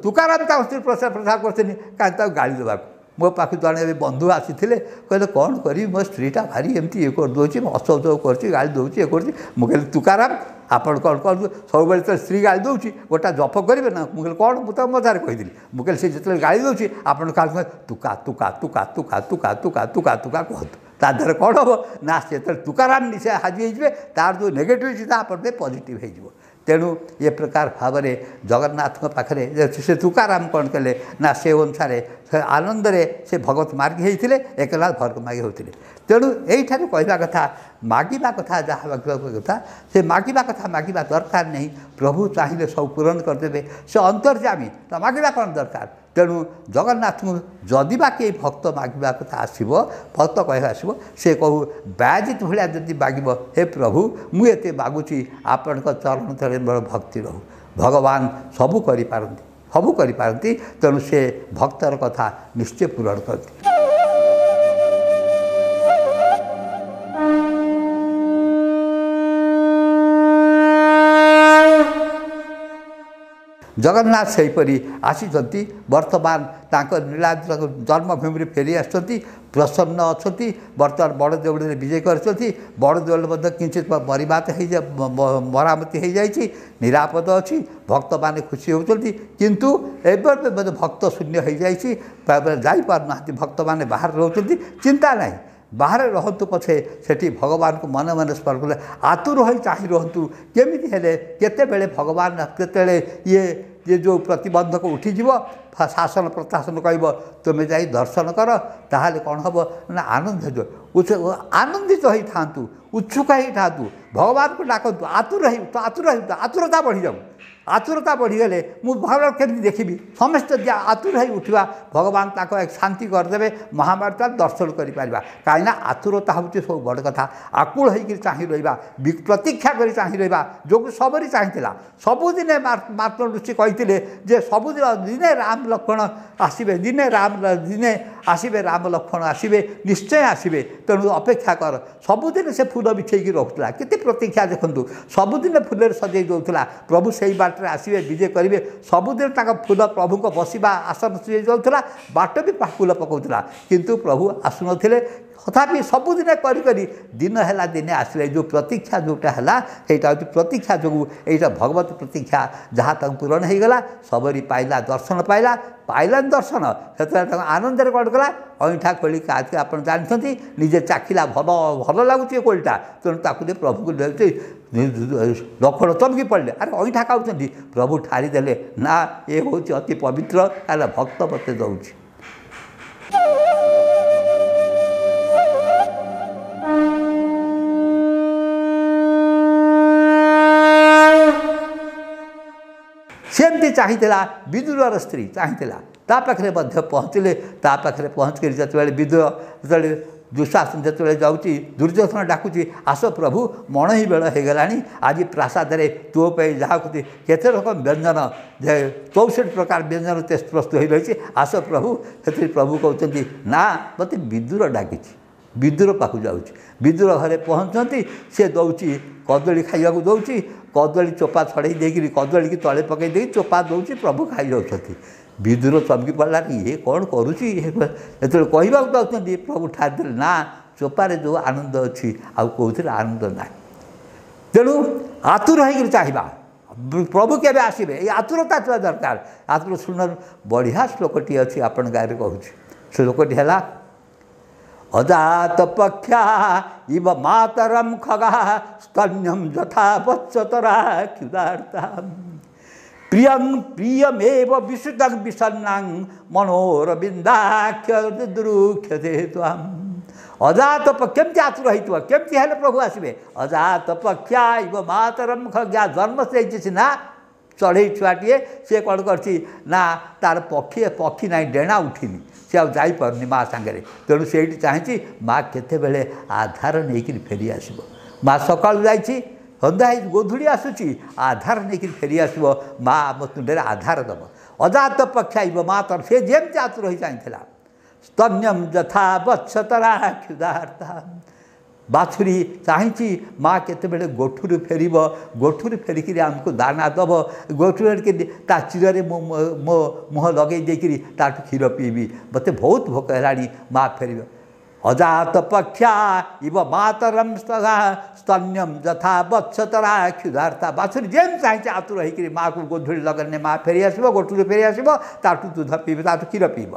ତୁକାରାମ ତାଙ୍କ ସ୍ତ୍ରୀ ପ୍ରଶଂସା କରୁଛନ୍ତି କାହିଁ ତାକୁ ଗାଳି ଦେବାକୁ। ମୋ ପାଖକୁ ଜଣେ ଏବେ ବନ୍ଧୁ ଆସିଥିଲେ, କହିଲେ କ'ଣ କରିବି, ମୋ ସ୍ତ୍ରୀଟା ଭାରି ଏମିତି ଇଏ କରିଦେଉଛି, ଅସହଯୋଗ କରୁଛି, ଗାଳି ଦେଉଛି, ଇଏ କରୁଛି। ମୁଁ କହିଲି ତୁକାରାମ ଆପଣ କ'ଣ କରନ୍ତୁ, ସବୁବେଳେ ତ ସ୍ତ୍ରୀ ଗାଳି ଦେଉଛି, ଗୋଟା ଜପ କରିବେ ନା? ମୁଁ କହିଲି କ'ଣ? ମୁଁ ତାକୁ ମଜାରେ କହିଥିଲି, ମୁଁ କହିଲି ସେ ଯେତେବେଳେ ଗାଳି ଦେଉଛି ଆପଣ କାହା ତୁକା ତୁକା ତୁକା ତୁକା ତୁକା ତୁକା ତୁକା ତୁକା କୁହନ୍ତୁ, ତା ଦେହରେ କ'ଣ ହେବ ନା ସେ ଯେତେବେଳେ ତୁକାରାମ ସେ ହାଜି ହେଇଯିବେ, ତାର ଯେଉଁ ନେଗେଟିଭ୍ ଚିନ୍ତା ଆପଣ ପାଇଁ ପଜିଟିଭ୍ ହେଇଯିବ। ତେଣୁ ଏ ପ୍ରକାର ଭାବରେ ଜଗନ୍ନାଥଙ୍କ ପାଖରେ ସେ ତୁକାରାମ କ'ଣ କଲେ ନା ସେ ଅନୁସାରେ ସେ ଆନନ୍ଦରେ ସେ ଭଗବତ ମାର୍ଗୀ ହେଇଥିଲେ, ଏକନାଥ ଭଗବତ ମାର୍ଗୀ ହେଉଥିଲେ। ତେଣୁ ଏଇଠାରେ କହିବା କଥା, ମାଗିବା କଥା, ଯାହା ମାଗିବା କଥା ସେ ମାଗିବା କଥା, ମାଗିବା ଦରକାର ନାହିଁ। ପ୍ରଭୁ ଚାହିଁଲେ ସବୁ ପୂରଣ କରିଦେବେ, ସେ ଅନ୍ତର୍ଯାମୀ, ତ ମାଗିବା କ'ଣ ଦରକାର? ତେଣୁ ଜଗନ୍ନାଥଙ୍କୁ ଯଦି ବା କେହି ଭକ୍ତ ମାଗିବା କଥା ଆସିବ, ଭକ୍ତ କହିବା ଆସିବ, ସେ କହୁ ବାୟଜିତ ଭଳିଆ ଯଦି ମାଗିବ, ହେ ପ୍ରଭୁ ମୁଁ ଏତେ ମାଗୁଛି, ଆପଣଙ୍କ ଚରଣ ତଳେ ମୋର ଭକ୍ତି ରହୁ। ଭଗବାନ ସବୁ କରିପାରନ୍ତି, ସବୁ କରିପାରନ୍ତି। ତେଣୁ ସେ ଭକ୍ତର କଥା ନିଶ୍ଚୟ ପୂରଣ କରନ୍ତି। ଜଗନ୍ନାଥ ସେହିପରି ଆସିଛନ୍ତି, ବର୍ତ୍ତମାନ ତାଙ୍କ ନୀଳାଦ୍ରି ଜନ୍ମଭୂମିରେ ଫେରି ଆସିଛନ୍ତି, ପ୍ରସନ୍ନ ଅଛନ୍ତି। ବର୍ତ୍ତମାନ ବଡ଼ ଦେଉଳରେ ବିଜୟ କରିଛନ୍ତି। ବଡ଼ ଦେଉଳ ମଧ୍ୟ କିଞ୍ଚିତ ମରିମାତ ହେଇଯା ମରାମତି ହେଇଯାଇଛି, ନିରାପଦ ଅଛି, ଭକ୍ତମାନେ ଖୁସି ହେଉଛନ୍ତି। କିନ୍ତୁ ଏବେ ମଧ୍ୟ ଭକ୍ତ ଶୂନ୍ୟ ହେଇଯାଇଛି, ଯାଇପାରୁନାହାନ୍ତି, ଭକ୍ତମାନେ ବାହାରେ ରହୁଛନ୍ତି। ଚିନ୍ତା ନାହିଁ, ବାହାରେ ରହନ୍ତୁ ପଛେ, ସେଠି ଭଗବାନଙ୍କୁ ମନେ ମନେ ସ୍ମରଣ କଲେ ଆତୁର ହୋଇ ଚାହିଁ ରୁହନ୍ତୁ, କେମିତି ହେଲେ କେତେବେଳେ ଭଗବାନ କେତେବେଳେ ଇଏ ଇଏ ଯେଉଁ ପ୍ରତିବନ୍ଧକ ଉଠିଯିବ, ଶାସନ ପ୍ରଶାସନ କହିବ ତୁମେ ଯାଇ ଦର୍ଶନ କର, ତାହେଲେ କ'ଣ ହେବ ନା ଆନନ୍ଦ ହେଇଯିବ। ଆନନ୍ଦିତ ହେଇଥାନ୍ତୁ, ଉତ୍ସୁକ ହେଇଥାନ୍ତୁ, ଭଗବାନଙ୍କୁ ଡାକନ୍ତୁ, ଆତୁର ହେଇ ଆତୁର ହେଇ ଆତୁରତା ବଢ଼ିଯାଉ। ଆତୁରତା ବଢ଼ିଗଲେ ମୁଁ ଭଗବାନ କେମିତି ଦେଖିବି? ସମସ୍ତେ ଆତୁର ହେଇ ଉଠିବା, ଭଗବାନ ତାଙ୍କ ଶାନ୍ତି କରିଦେବେ, ମହାଭାରତ ଦର୍ଶନ କରିପାରିବା। କାହିଁକିନା ଆତୁରତା ହେଉଛି ସବୁ ବଡ଼ କଥା। ଆକୁଳ ହେଇକିରି ଚାହିଁ ରହିବା, ପ୍ରତୀକ୍ଷା କରି ଚାହିଁ ରହିବା, ଯୋଗୁଁ ସବରି ଚାହିଁଥିଲା। ସବୁଦିନେ ମାର୍କଣ୍ଡ ଋଷି କହିଥିଲେ ଯେ ସବୁଦିନ ଦିନେ ରାମ ଲକ୍ଷ୍ମଣ ଆସିବେ, ଦିନେ ରାମ ଦିନେ ଆସିବେ, ରାମ ଲକ୍ଷ୍ମଣ ଆସିବେ, ନିଶ୍ଚୟ ଆସିବେ, ତେଣୁ ଅପେକ୍ଷା କର। ସବୁଦିନ ସେ ଫୁଲ ବିଛେଇକି ରଖୁଥିଲା। କେତେ ପ୍ରତୀକ୍ଷା ଦେଖନ୍ତୁ, ସବୁଦିନ ଫୁଲରେ ସଜେଇ ଦେଉଥିଲା। ପ୍ରଭୁ ସେଇ ବାଟରେ ଆସିବେ, ବିଜେ କରିବେ। ସବୁଦିନ ତାଙ୍କ ଫୁଲ ପ୍ରଭୁଙ୍କ ବସିବା ଆସନ ସଜେଇ ଦେଉଥିଲା, ବାଟ ବି ଫୁଲ ପକାଉଥିଲା, କିନ୍ତୁ ପ୍ରଭୁ ଆସୁନଥିଲେ। ତଥାପି ସବୁଦିନେ କରି କରି ଦିନ ହେଲା, ଦିନେ ଆସିଲେ। ଯେଉଁ ପ୍ରତୀକ୍ଷା ଯେଉଁଟା ହେଲା, ସେଇଟା ହେଉଛି ପ୍ରତୀକ୍ଷା ଯୋଗୁଁ, ଏଇଟା ଭଗବତ ପ୍ରତୀକ୍ଷା ଯାହା ତାଙ୍କୁ ପୂରଣ ହେଇଗଲା। ସବରି ପାଇଲା, ଦର୍ଶନ ପାଇଲା, ପାଇଲାନି ଦର୍ଶନ, ସେତେବେଳେ ତାଙ୍କୁ ଆନନ୍ଦରେ କ'ଣ କଲା? ଅଇଁଠା କୋଳି କାହାକୁ ଆପଣ ଜାଣିଛନ୍ତି, ନିଜେ ଚାଖିଲା, ଭଲ ଭଲ ଲାଗୁଛି ଏ କୋଳିଟା, ତେଣୁ ତାକୁ ଦେଇ ପ୍ରଭୁକୁ ଦେଉଛି। ଲକ୍ଷ୍ମଣ ଚମକି ପଡ଼ିଲେ, ଆରେ ଅଇଁଠା ଖାଉଛନ୍ତି। ପ୍ରଭୁ ଠାରିଦେଲେ, ନା ଏ ହେଉଛି ଅତି ପବିତ୍ର, ତାହେଲେ ଭକ୍ତ ମୋତେ ଦେଉଛି। ସେମିତି ଚାହିଁଥିଲା ବିଦୁରର ସ୍ତ୍ରୀ, ଚାହିଁଥିଲା, ତା ପାଖରେ ମଧ୍ୟ ପହଞ୍ଚିଲେ। ତା ପାଖରେ ପହଞ୍ଚିକରି ଯେତେବେଳେ ବିଦୁର, ଯେତେବେଳେ ଦୁଃଶାସନ ଯେତେବେଳେ ଯାଉଛି, ଦୁର୍ଯ୍ୟୋଧନ ଡାକୁଛି, ଆସ ପ୍ରଭୁ, ମଣୋହି ବେଳ ହେଇଗଲାଣି, ଆଜି ପ୍ରାସାଦରେ ତୋ ପାଇଁ ଯାହାକୁ କେତେ ରକମ ବ୍ୟଞ୍ଜନ, ଯେ 64 ପ୍ରକାର ବ୍ୟଞ୍ଜନ ପ୍ରସ୍ତୁତ ହୋଇ ରହିଛି, ଆସ ପ୍ରଭୁ। ସେଥିରେ ପ୍ରଭୁ କହୁଛନ୍ତି, ନା ମୋତେ ବିଦୁର ଡାକିଛି, ବିଦୁର ପାଖକୁ ଯାଉଛି। ବିଦୁର ଘରେ ପହଞ୍ଚନ୍ତି, ସେ ଦେଉଛି କଦଳୀ ଖାଇବାକୁ ଦେଉଛି, କଦଳୀ ଚୋପା ଛଡ଼େଇ ଦେଇକିରି କଦଳୀକି ତଳେ ପକାଇ ଦେଇକି ଚୋପା ଦେଉଛି, ପ୍ରଭୁ ଖାଇଯାଉଛନ୍ତି। ବିଦୁର ଚମକି ପଡ଼ିଲା, ଇଏ କ'ଣ କରୁଛି? ଯେତେବେଳେ କହିବାକୁ ଯାଉଛନ୍ତି, ପ୍ରଭୁ ଠାରିଦେଲେ, ନା ଚୋପାରେ ଯେଉଁ ଆନନ୍ଦ ଅଛି ଆଉ କେଉଁଥିରେ ଆନନ୍ଦ ନାହିଁ। ତେଣୁ ଆତୁର ହେଇକିରି ଚାହିଁବା ପ୍ରଭୁ କେବେ ଆସିବେ, ଏଇ ଆତୁରତା ଥିବା ଦରକାର। ଆତୁର ଶୁଣ, ବଢ଼ିଆ ଶ୍ଲୋକଟି ଅଛି ଆପଣଙ୍କ ଆଗରେ କହୁଛି। ଶ୍ଲୋକଟି ହେଲା ଅଜାତ ପକ୍ଷା ଇବ ମାତରಂ ଖଗା ସ୍ତନ୍ୟಂ ଯଥା ବତ୍ସତରା କ୍ଷୁଧାର୍ତା ପ୍ରିୟଂ ପ୍ରିୟମେବ ବିଶୁଦଂ ବିଷନ୍ନାଂ ମନୋରବିନ୍ଦାକ୍ଷ ଦୁରୁକ୍ଷତେ ତ୍ୱାಂ। ଅଜାତ କେମିତି ଆତୁର ହେଇଥିବ, କେମିତି ହେଲେ ପ୍ରଭୁ ଆସିବେ? ଅଜାତ ପକ୍ଷା ଇବ ମାତରಂ ଖଗା, ଜନ୍ମ ହେଇଛି ସିନା ଚଢ଼େଇ ଛୁଆଟିଏ, ସିଏ କ'ଣ କରିଛି ନା ତାର ପକ୍ଷୀ ପକ୍ଷୀ ନାହିଁ, ଡେଣା ଉଠିନି, ସେ ଆଉ ଯାଇପାରୁନି ମା ସାଙ୍ଗରେ। ତେଣୁ ସେଇଠି ଚାହିଁଛି ମା କେତେବେଳେ ଆଧାର ନେଇକିରି ଫେରି ଆସିବ। ମା ସକାଳୁ ଯାଇଛି, ସନ୍ଧ୍ୟା ହେଇ ଗୋଧୂଳି ଆସୁଛି, ଆଧାର ନେଇକିରି ଫେରି ଆସିବ, ମା ଆମ ତୁଣ୍ଡରେ ଆଧାର ଦେବ। ଅଜାତ ପକ୍ଷାଇବ ମା ତର, ସେ ଯେମିତି ଆତୁର ହେଇ ଚାହିଁଥିଲା। ସ୍ତନ୍ୟମ ଯଥା ବତ୍ସତରା କ୍ଷୁଧାର୍ତା, ବାଛୁରୀ ଚାହିଁଛି ମା କେତେବେଳେ ଗୋଠରୁ ଫେରିବ, ଗୋଠରୁ ଫେରିକିରି ଆମକୁ ଦାନା ଦେବ, ଗୋଠରୁ ଫେରିକିରି ତା ଚିରରେ ମୁଁ ମୋ ମୁହଁ ଲଗେଇ ଦେଇକିରି ତାଠୁ କ୍ଷୀର ପିଇବି, ମୋତେ ବହୁତ ଭୋକ ହେଲାଣି, ମା ଫେରିବ। ଅଜାତ ପକ୍ଷା ଇବ ମାତରମ ସ୍ତନ୍ୟମ ଯଥା ବତ୍ସତରା କ୍ଷୁଧାର୍ତା, ବାଛୁରୀ ଯେମିତି ଚାହିଁଛି ଆତୁର ହେଇକିରି ମାଆକୁ ଗୋଧୂଳି ଲଗେଇଲେ ମା ଫେରି ଆସିବ, ଗୋଠରୁ ଫେରି ଆସିବ, ତାଠୁ ଦୁଧ ପିଇବ, ତାଠୁ କ୍ଷୀର ପିଇବ।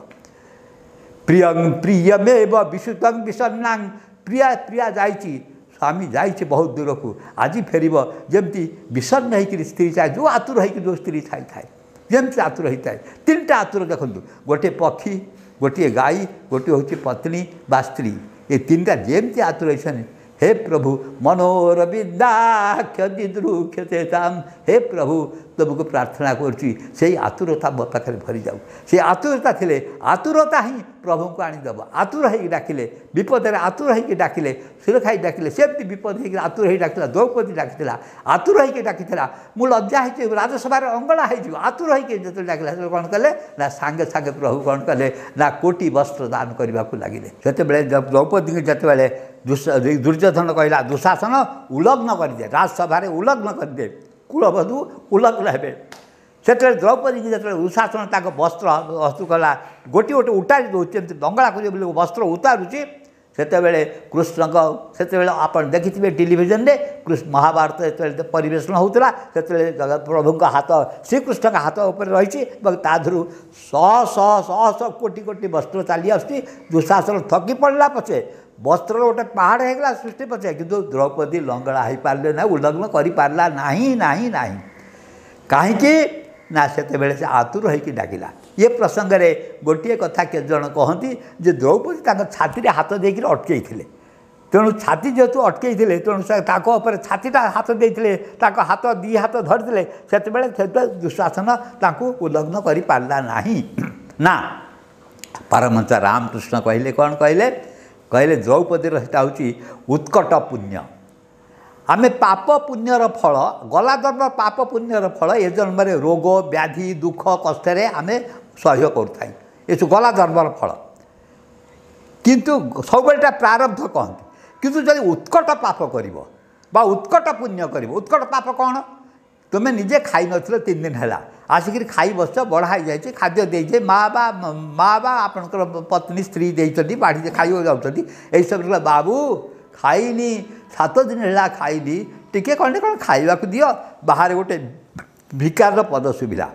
ପ୍ରିୟଂ ପ୍ରିୟମେବ ବିଶୁତଂ ବିଷନ୍ନାଂ, ପ୍ରିୟା ପ୍ରିୟା ଯାଇଛି, ସ୍ୱାମୀ ଯାଇଛି ବହୁତ ଦୂରକୁ, ଆଜି ଫେରିବ, ଯେମିତି ବିଷନ୍ନ ହେଇକିରି ସ୍ତ୍ରୀ ଚାଏ, ଯେଉଁ ଆତୁର ହେଇକି ଯେଉଁ ସ୍ତ୍ରୀ ଥାଇଥାଏ, ଯେମିତି ଆତୁର ହେଇଥାଏ। ତିନିଟା ଆତୁର ଦେଖନ୍ତୁ, ଗୋଟିଏ ପକ୍ଷୀ, ଗୋଟିଏ ଗାଈ, ଗୋଟିଏ ହେଉଛି ପତ୍ନୀ ବା ସ୍ତ୍ରୀ। ଏ ତିନିଟା ଯେମିତି ଆତୁର ହେଇଛନ୍ତି, ହେ ପ୍ରଭୁ ମନୋରବିନ୍ଦାକ୍ଷ ଦିଦୃକ୍ଷତେ ତାମ୍, ହେ ପ୍ରଭୁ ତୁମକୁ ପ୍ରାର୍ଥନା କରୁଛି ସେଇ ଆତୁରତା ମୋ ପାଖରେ ଭରିଯାଉ। ସେ ଆତୁରତା ଥିଲେ, ଆତୁରତା ହିଁ ପ୍ରଭୁଙ୍କୁ ଆଣିଦେବ। ଆତୁର ହେଇକି ଡାକିଲେ, ବିପଦରେ ଆତୁର ହେଇକି ଡାକିଲେ, ସୁରଖାଇ ଡାକିଲେ, ସେମିତି ବିପଦ ହେଇକି ଆତୁର ହେଇକି ଡାକିଥିଲା। ଦ୍ରୌପଦୀ ଡାକିଥିଲା, ଆତୁର ହେଇକି ଡାକିଥିଲା, ମୁଁ ଲଜ୍ଜା ହେଇଛି, ରାଜସଭାରେ ଅଙ୍ଗଳା ହେଇଯିବ। ଆତୁର ହେଇକି ଯେତେବେଳେ ଡାକିଲା, ସେତେବେଳେ କ'ଣ କଲେ ନା ସାଙ୍ଗେ ସାଙ୍ଗେ ପ୍ରଭୁ କ'ଣ କଲେ ନା କୋଟି ବସ୍ତ୍ର ଦାନ କରିବାକୁ ଲାଗିଲେ। ସେତେବେଳେ ଦ୍ରୌପଦୀଙ୍କୁ ଯେତେବେଳେ ଦୁର୍ଯ୍ୟୋଧନ କହିଲା, ଦୁଃଶାସନ ଉଲଗ୍ନ କରିଦେ, ରାଜସଭାରେ ଉଲଗ୍ନ କରିଦେ, କୁଳବଧୂ ଉଲଗ୍ନ ହେବେ। ସେତେବେଳେ ଦ୍ରୌପଦୀଙ୍କୁ ଯେତେବେଳେ ଦୁଃଶାସନ ତାଙ୍କ ବସ୍ତ୍ର ବସ୍ତୁ କଲା, ଗୋଟିଏ ଗୋଟେ ଉତାରି ଦେଉଛି, ଏମିତି ଲଙ୍ଗଳା କରିବ ବୋଲି ବସ୍ତ୍ର ଉତାରୁଛି, ସେତେବେଳେ କୃଷ୍ଣଙ୍କ, ସେତେବେଳେ ଆପଣ ଦେଖିଥିବେ ଟେଲିଭିଜନରେ କୃଷ୍ଣ ମହାଭାରତ ଯେତେବେଳେ ପରିବେଷଣ ହେଉଥିଲା, ସେତେବେଳେ ପ୍ରଭୁଙ୍କ ହାତ ଶ୍ରୀକୃଷ୍ଣଙ୍କ ହାତ ଉପରେ ରହିଛି ଏବଂ ତା ଦେହରୁ ଶହ ଶହ ଶହ ଶହ କୋଟି କୋଟି ବସ୍ତ୍ର ଚାଲି ଆସୁଛି। ଦୁଃଶାସନ ଥକି ପଡ଼ିଲା ପଛେ, ବସ୍ତ୍ରର ଗୋଟେ ପାହାଡ଼ ହେଇଗଲା ସୃଷ୍ଟି ପଛେ, କିନ୍ତୁ ଦ୍ରୌପଦୀ ଲଙ୍ଗଳା ହେଇପାରିଲେ ନାହିଁ, ଉଲ୍ଲଗ୍ନ କରିପାରିଲା ନାହିଁ, ନାହିଁ, ନାହିଁ। କାହିଁକି ନା ସେତେବେଳେ ସେ ଆତୁର ହେଇକି ଡାକିଲା। ଏ ପ୍ରସଙ୍ଗରେ ଗୋଟିଏ କଥା କେତେଜଣ କହନ୍ତି ଯେ ଦ୍ରୌପଦୀ ତାଙ୍କ ଛାତିରେ ହାତ ଦେଇକିରି ଅଟକେଇଥିଲେ। ତେଣୁ ଛାତି ଯେହେତୁ ଅଟକେଇଥିଲେ, ତେଣୁ ସେ ତାଙ୍କ ଉପରେ ଛାତିଟା ହାତ ଦେଇଥିଲେ, ତାଙ୍କ ହାତ ଦୁଇ ହାତ ଧରିଥିଲେ, ସେତେବେଳେ ସେତେବେଳେ ଦୁଃଶାସନ ତାଙ୍କୁ ଉଲଗ୍ନ କରିପାରିଲା ନାହିଁ ନା। ପରମହଂସ ରାମକୃଷ୍ଣ କହିଲେ, କ'ଣ କହିଲେ? କହିଲେ ଦ୍ରୌପଦୀର ସେଟା ହେଉଛି ଉତ୍କଟ ପୁଣ୍ୟ। ଆମେ ପାପ ପୁଣ୍ୟର ଫଳ, ଗଲା ଜନ୍ମ ପାପ ପୁଣ୍ୟର ଫଳ ଏ ଜନ୍ମରେ ରୋଗ ବ୍ୟାଧି ଦୁଃଖ କଷ୍ଟରେ ଆମେ ସହ୍ୟ କରୁଥାଇ, ଏସବୁ ଗଲା ଜନ୍ମର ଫଳ। କିନ୍ତୁ ସବୁବେଳେ ପ୍ରାରବ୍ଧ କହନ୍ତି। କିନ୍ତୁ ଯଦି ଉତ୍କଟ ପାପ କରିବ ବା ଉତ୍କଟ ପୁଣ୍ୟ କରିବ, ଉତ୍କଟ ପାପ କ'ଣ? ତୁମେ ନିଜେ ଖାଇନଥିଲ 3 ଦିନ ହେଲା, ଆସିକିରି ଖାଇ ବସିଛ, ବଢ଼ା ହେଇଯାଇଛି, ଖାଦ୍ୟ ଦେଇଛେ ମା ବା ଆପଣଙ୍କର ପତ୍ନୀ ସ୍ତ୍ରୀ ଦେଇଛନ୍ତି, ବାଢ଼ି ଖାଇବାକୁ ଯାଉଛନ୍ତି, ଏଇସବୁ ବାବୁ ଖାଇନି, 7 ଦିନ ହେଲା ଖାଇନି, ଟିକେ କ'ଣ କ'ଣ ଖାଇବାକୁ ଦିଅ। ବାହାରେ ଗୋଟେ ଭିକାରର ପଦ ଶୁଭିଲା,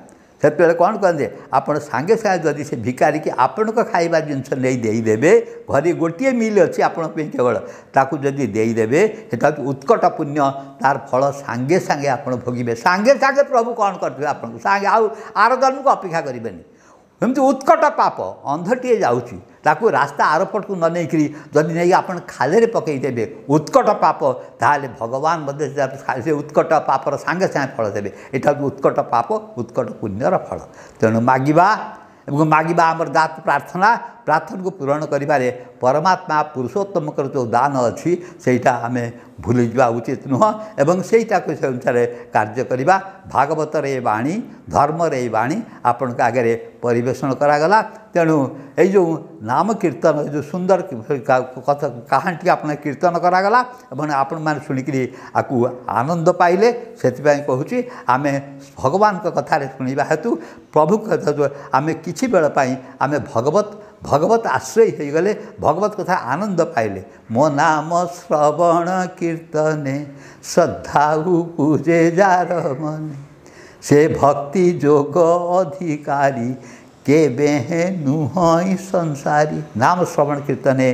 ସେତେବେଳେ କ'ଣ କରନ୍ତି ଆପଣ? ସାଙ୍ଗେ ସାଙ୍ଗେ ଯଦି ସେ ଭିକାରିକି ଆପଣଙ୍କ ଖାଇବା ଜିନିଷ ନେଇ ଦେଇଦେବେ, ଘରେ ଗୋଟିଏ ମିଲ୍ ଅଛି ଆପଣଙ୍କ ପାଇଁ କେବଳ, ତାକୁ ଯଦି ଦେଇଦେବେ, ସେଟା ହେଉଛି ଉତ୍କଟ ପୁଣ୍ୟ। ତାର ଫଳ ସାଙ୍ଗେ ସାଙ୍ଗେ ଆପଣ ଭୋଗିବେ, ସାଙ୍ଗେ ସାଙ୍ଗେ ପ୍ରଭୁ କ'ଣ କରିଥିବେ ଆପଣଙ୍କୁ, ସାଙ୍ଗେ ଆଉ ଆର ଜନ୍ମକୁ ଅପେକ୍ଷା କରିବେନି। ଏମିତି ଉତ୍କଟ ପାପ, ଅନ୍ଧଟିଏ ଯାଉଛି, ତାକୁ ରାସ୍ତା ଆରପଟକୁ ନ ନେଇକରି ଯଦି ନେଇକି ଆପଣ ଖାଲରେ ପକାଇଦେବେ, ଉତ୍କଟ ପାପ, ତାହେଲେ ଭଗବାନ ମଧ୍ୟ ସେ ଉତ୍କଟ ପାପର ସାଙ୍ଗେ ସାଙ୍ଗେ ଫଳ ଦେବେ। ଏଇଟା ହେଉଛି ଉତ୍କଟ ପାପ, ଉତ୍କଟ ପୁଣ୍ୟର ଫଳ। ତେଣୁ ମାଗିବା ଏବଂ ମାଗିବା ଆମର ଦାତ ପ୍ରାର୍ଥନା, ପ୍ରାର୍ଥନାକୁ ପୂରଣ କରିବାରେ ପରମାତ୍ମା ପୁରୁଷୋତ୍ତମଙ୍କର ଯେଉଁ ଦାନ ଅଛି ସେଇଟା ଆମେ ଭୁଲିଯିବା ଉଚିତ ନୁହଁ, ଏବଂ ସେଇଟାକୁ ସେ ଅନୁସାରେ କାର୍ଯ୍ୟ କରିବା। ଭାଗବତର ଏ ବାଣୀ, ଧର୍ମର ଏଇ ବାଣୀ ଆପଣଙ୍କ ଆଗରେ ପରିବେଷଣ କରାଗଲା। ତେଣୁ ଏଇ ଯେଉଁ ନାମ କୀର୍ତ୍ତନ, ଏ ଯେଉଁ ସୁନ୍ଦର କଥା କାହାଣୀଟି ଆପଣ କୀର୍ତ୍ତନ କରାଗଲା ଏବଂ ଆପଣମାନେ ଶୁଣିକିରି ଆକୁ ଆନନ୍ଦ ପାଇଲେ, ସେଥିପାଇଁ କହୁଛି ଆମେ ଭଗବାନଙ୍କ କଥାରେ ଶୁଣିବା ହେତୁ ପ୍ରଭୁଙ୍କ ଆମେ କିଛି ବେଳ ପାଇଁ ଆମେ ଭଗବତ ଆଶ୍ରୟୀ ହୋଇଗଲେ, ଭଗବତ କଥା ଆନନ୍ଦ ପାଇଲେ। ମୋ ନାମ ଶ୍ରବଣ କୀର୍ତ୍ତନେ ଶ୍ରଦ୍ଧା ପୂଜେ ଯାର ମନେ, ସେ ଭକ୍ତି ଯୋଗ ଅଧିକାରୀ କେବେ ନୁହଁ ସଂସାରୀ। ନାମ ଶ୍ରବଣ କୀର୍ତ୍ତନେ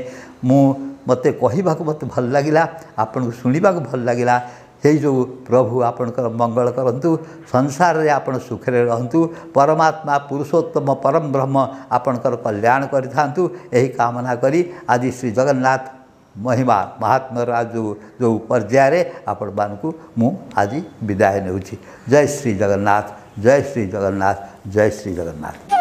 ମୁଁ ମୋତେ କହିବାକୁ ମୋତେ ଭଲ ଲାଗିଲା, ଆପଣଙ୍କୁ ଶୁଣିବାକୁ ଭଲ ଲାଗିଲା। ସେଇ ଯୋଗୁଁ ପ୍ରଭୁ ଆପଣଙ୍କର ମଙ୍ଗଳ କରନ୍ତୁ, ସଂସାରରେ ଆପଣ ସୁଖରେ ରହନ୍ତୁ, ପରମାତ୍ମା ପୁରୁଷୋତ୍ତମ ପରମ ବ୍ରହ୍ମ ଆପଣଙ୍କର କଲ୍ୟାଣ କରିଥାନ୍ତୁ, ଏହି କାମନା କରି ଆଜି ଶ୍ରୀ ଜଗନ୍ନାଥ ମହିମା ମହାତ୍ମ୍ୟର ଯେଉଁ ପର୍ଯ୍ୟାୟରେ ଆପଣମାନଙ୍କୁ ମୁଁ ଆଜି ବିଦାୟ ନେଉଛି। ଜୟ ଶ୍ରୀ ଜଗନ୍ନାଥ, ଜୟ ଶ୍ରୀ ଜଗନ୍ନାଥ, ଜୟ ଶ୍ରୀ ଜଗନ୍ନାଥ।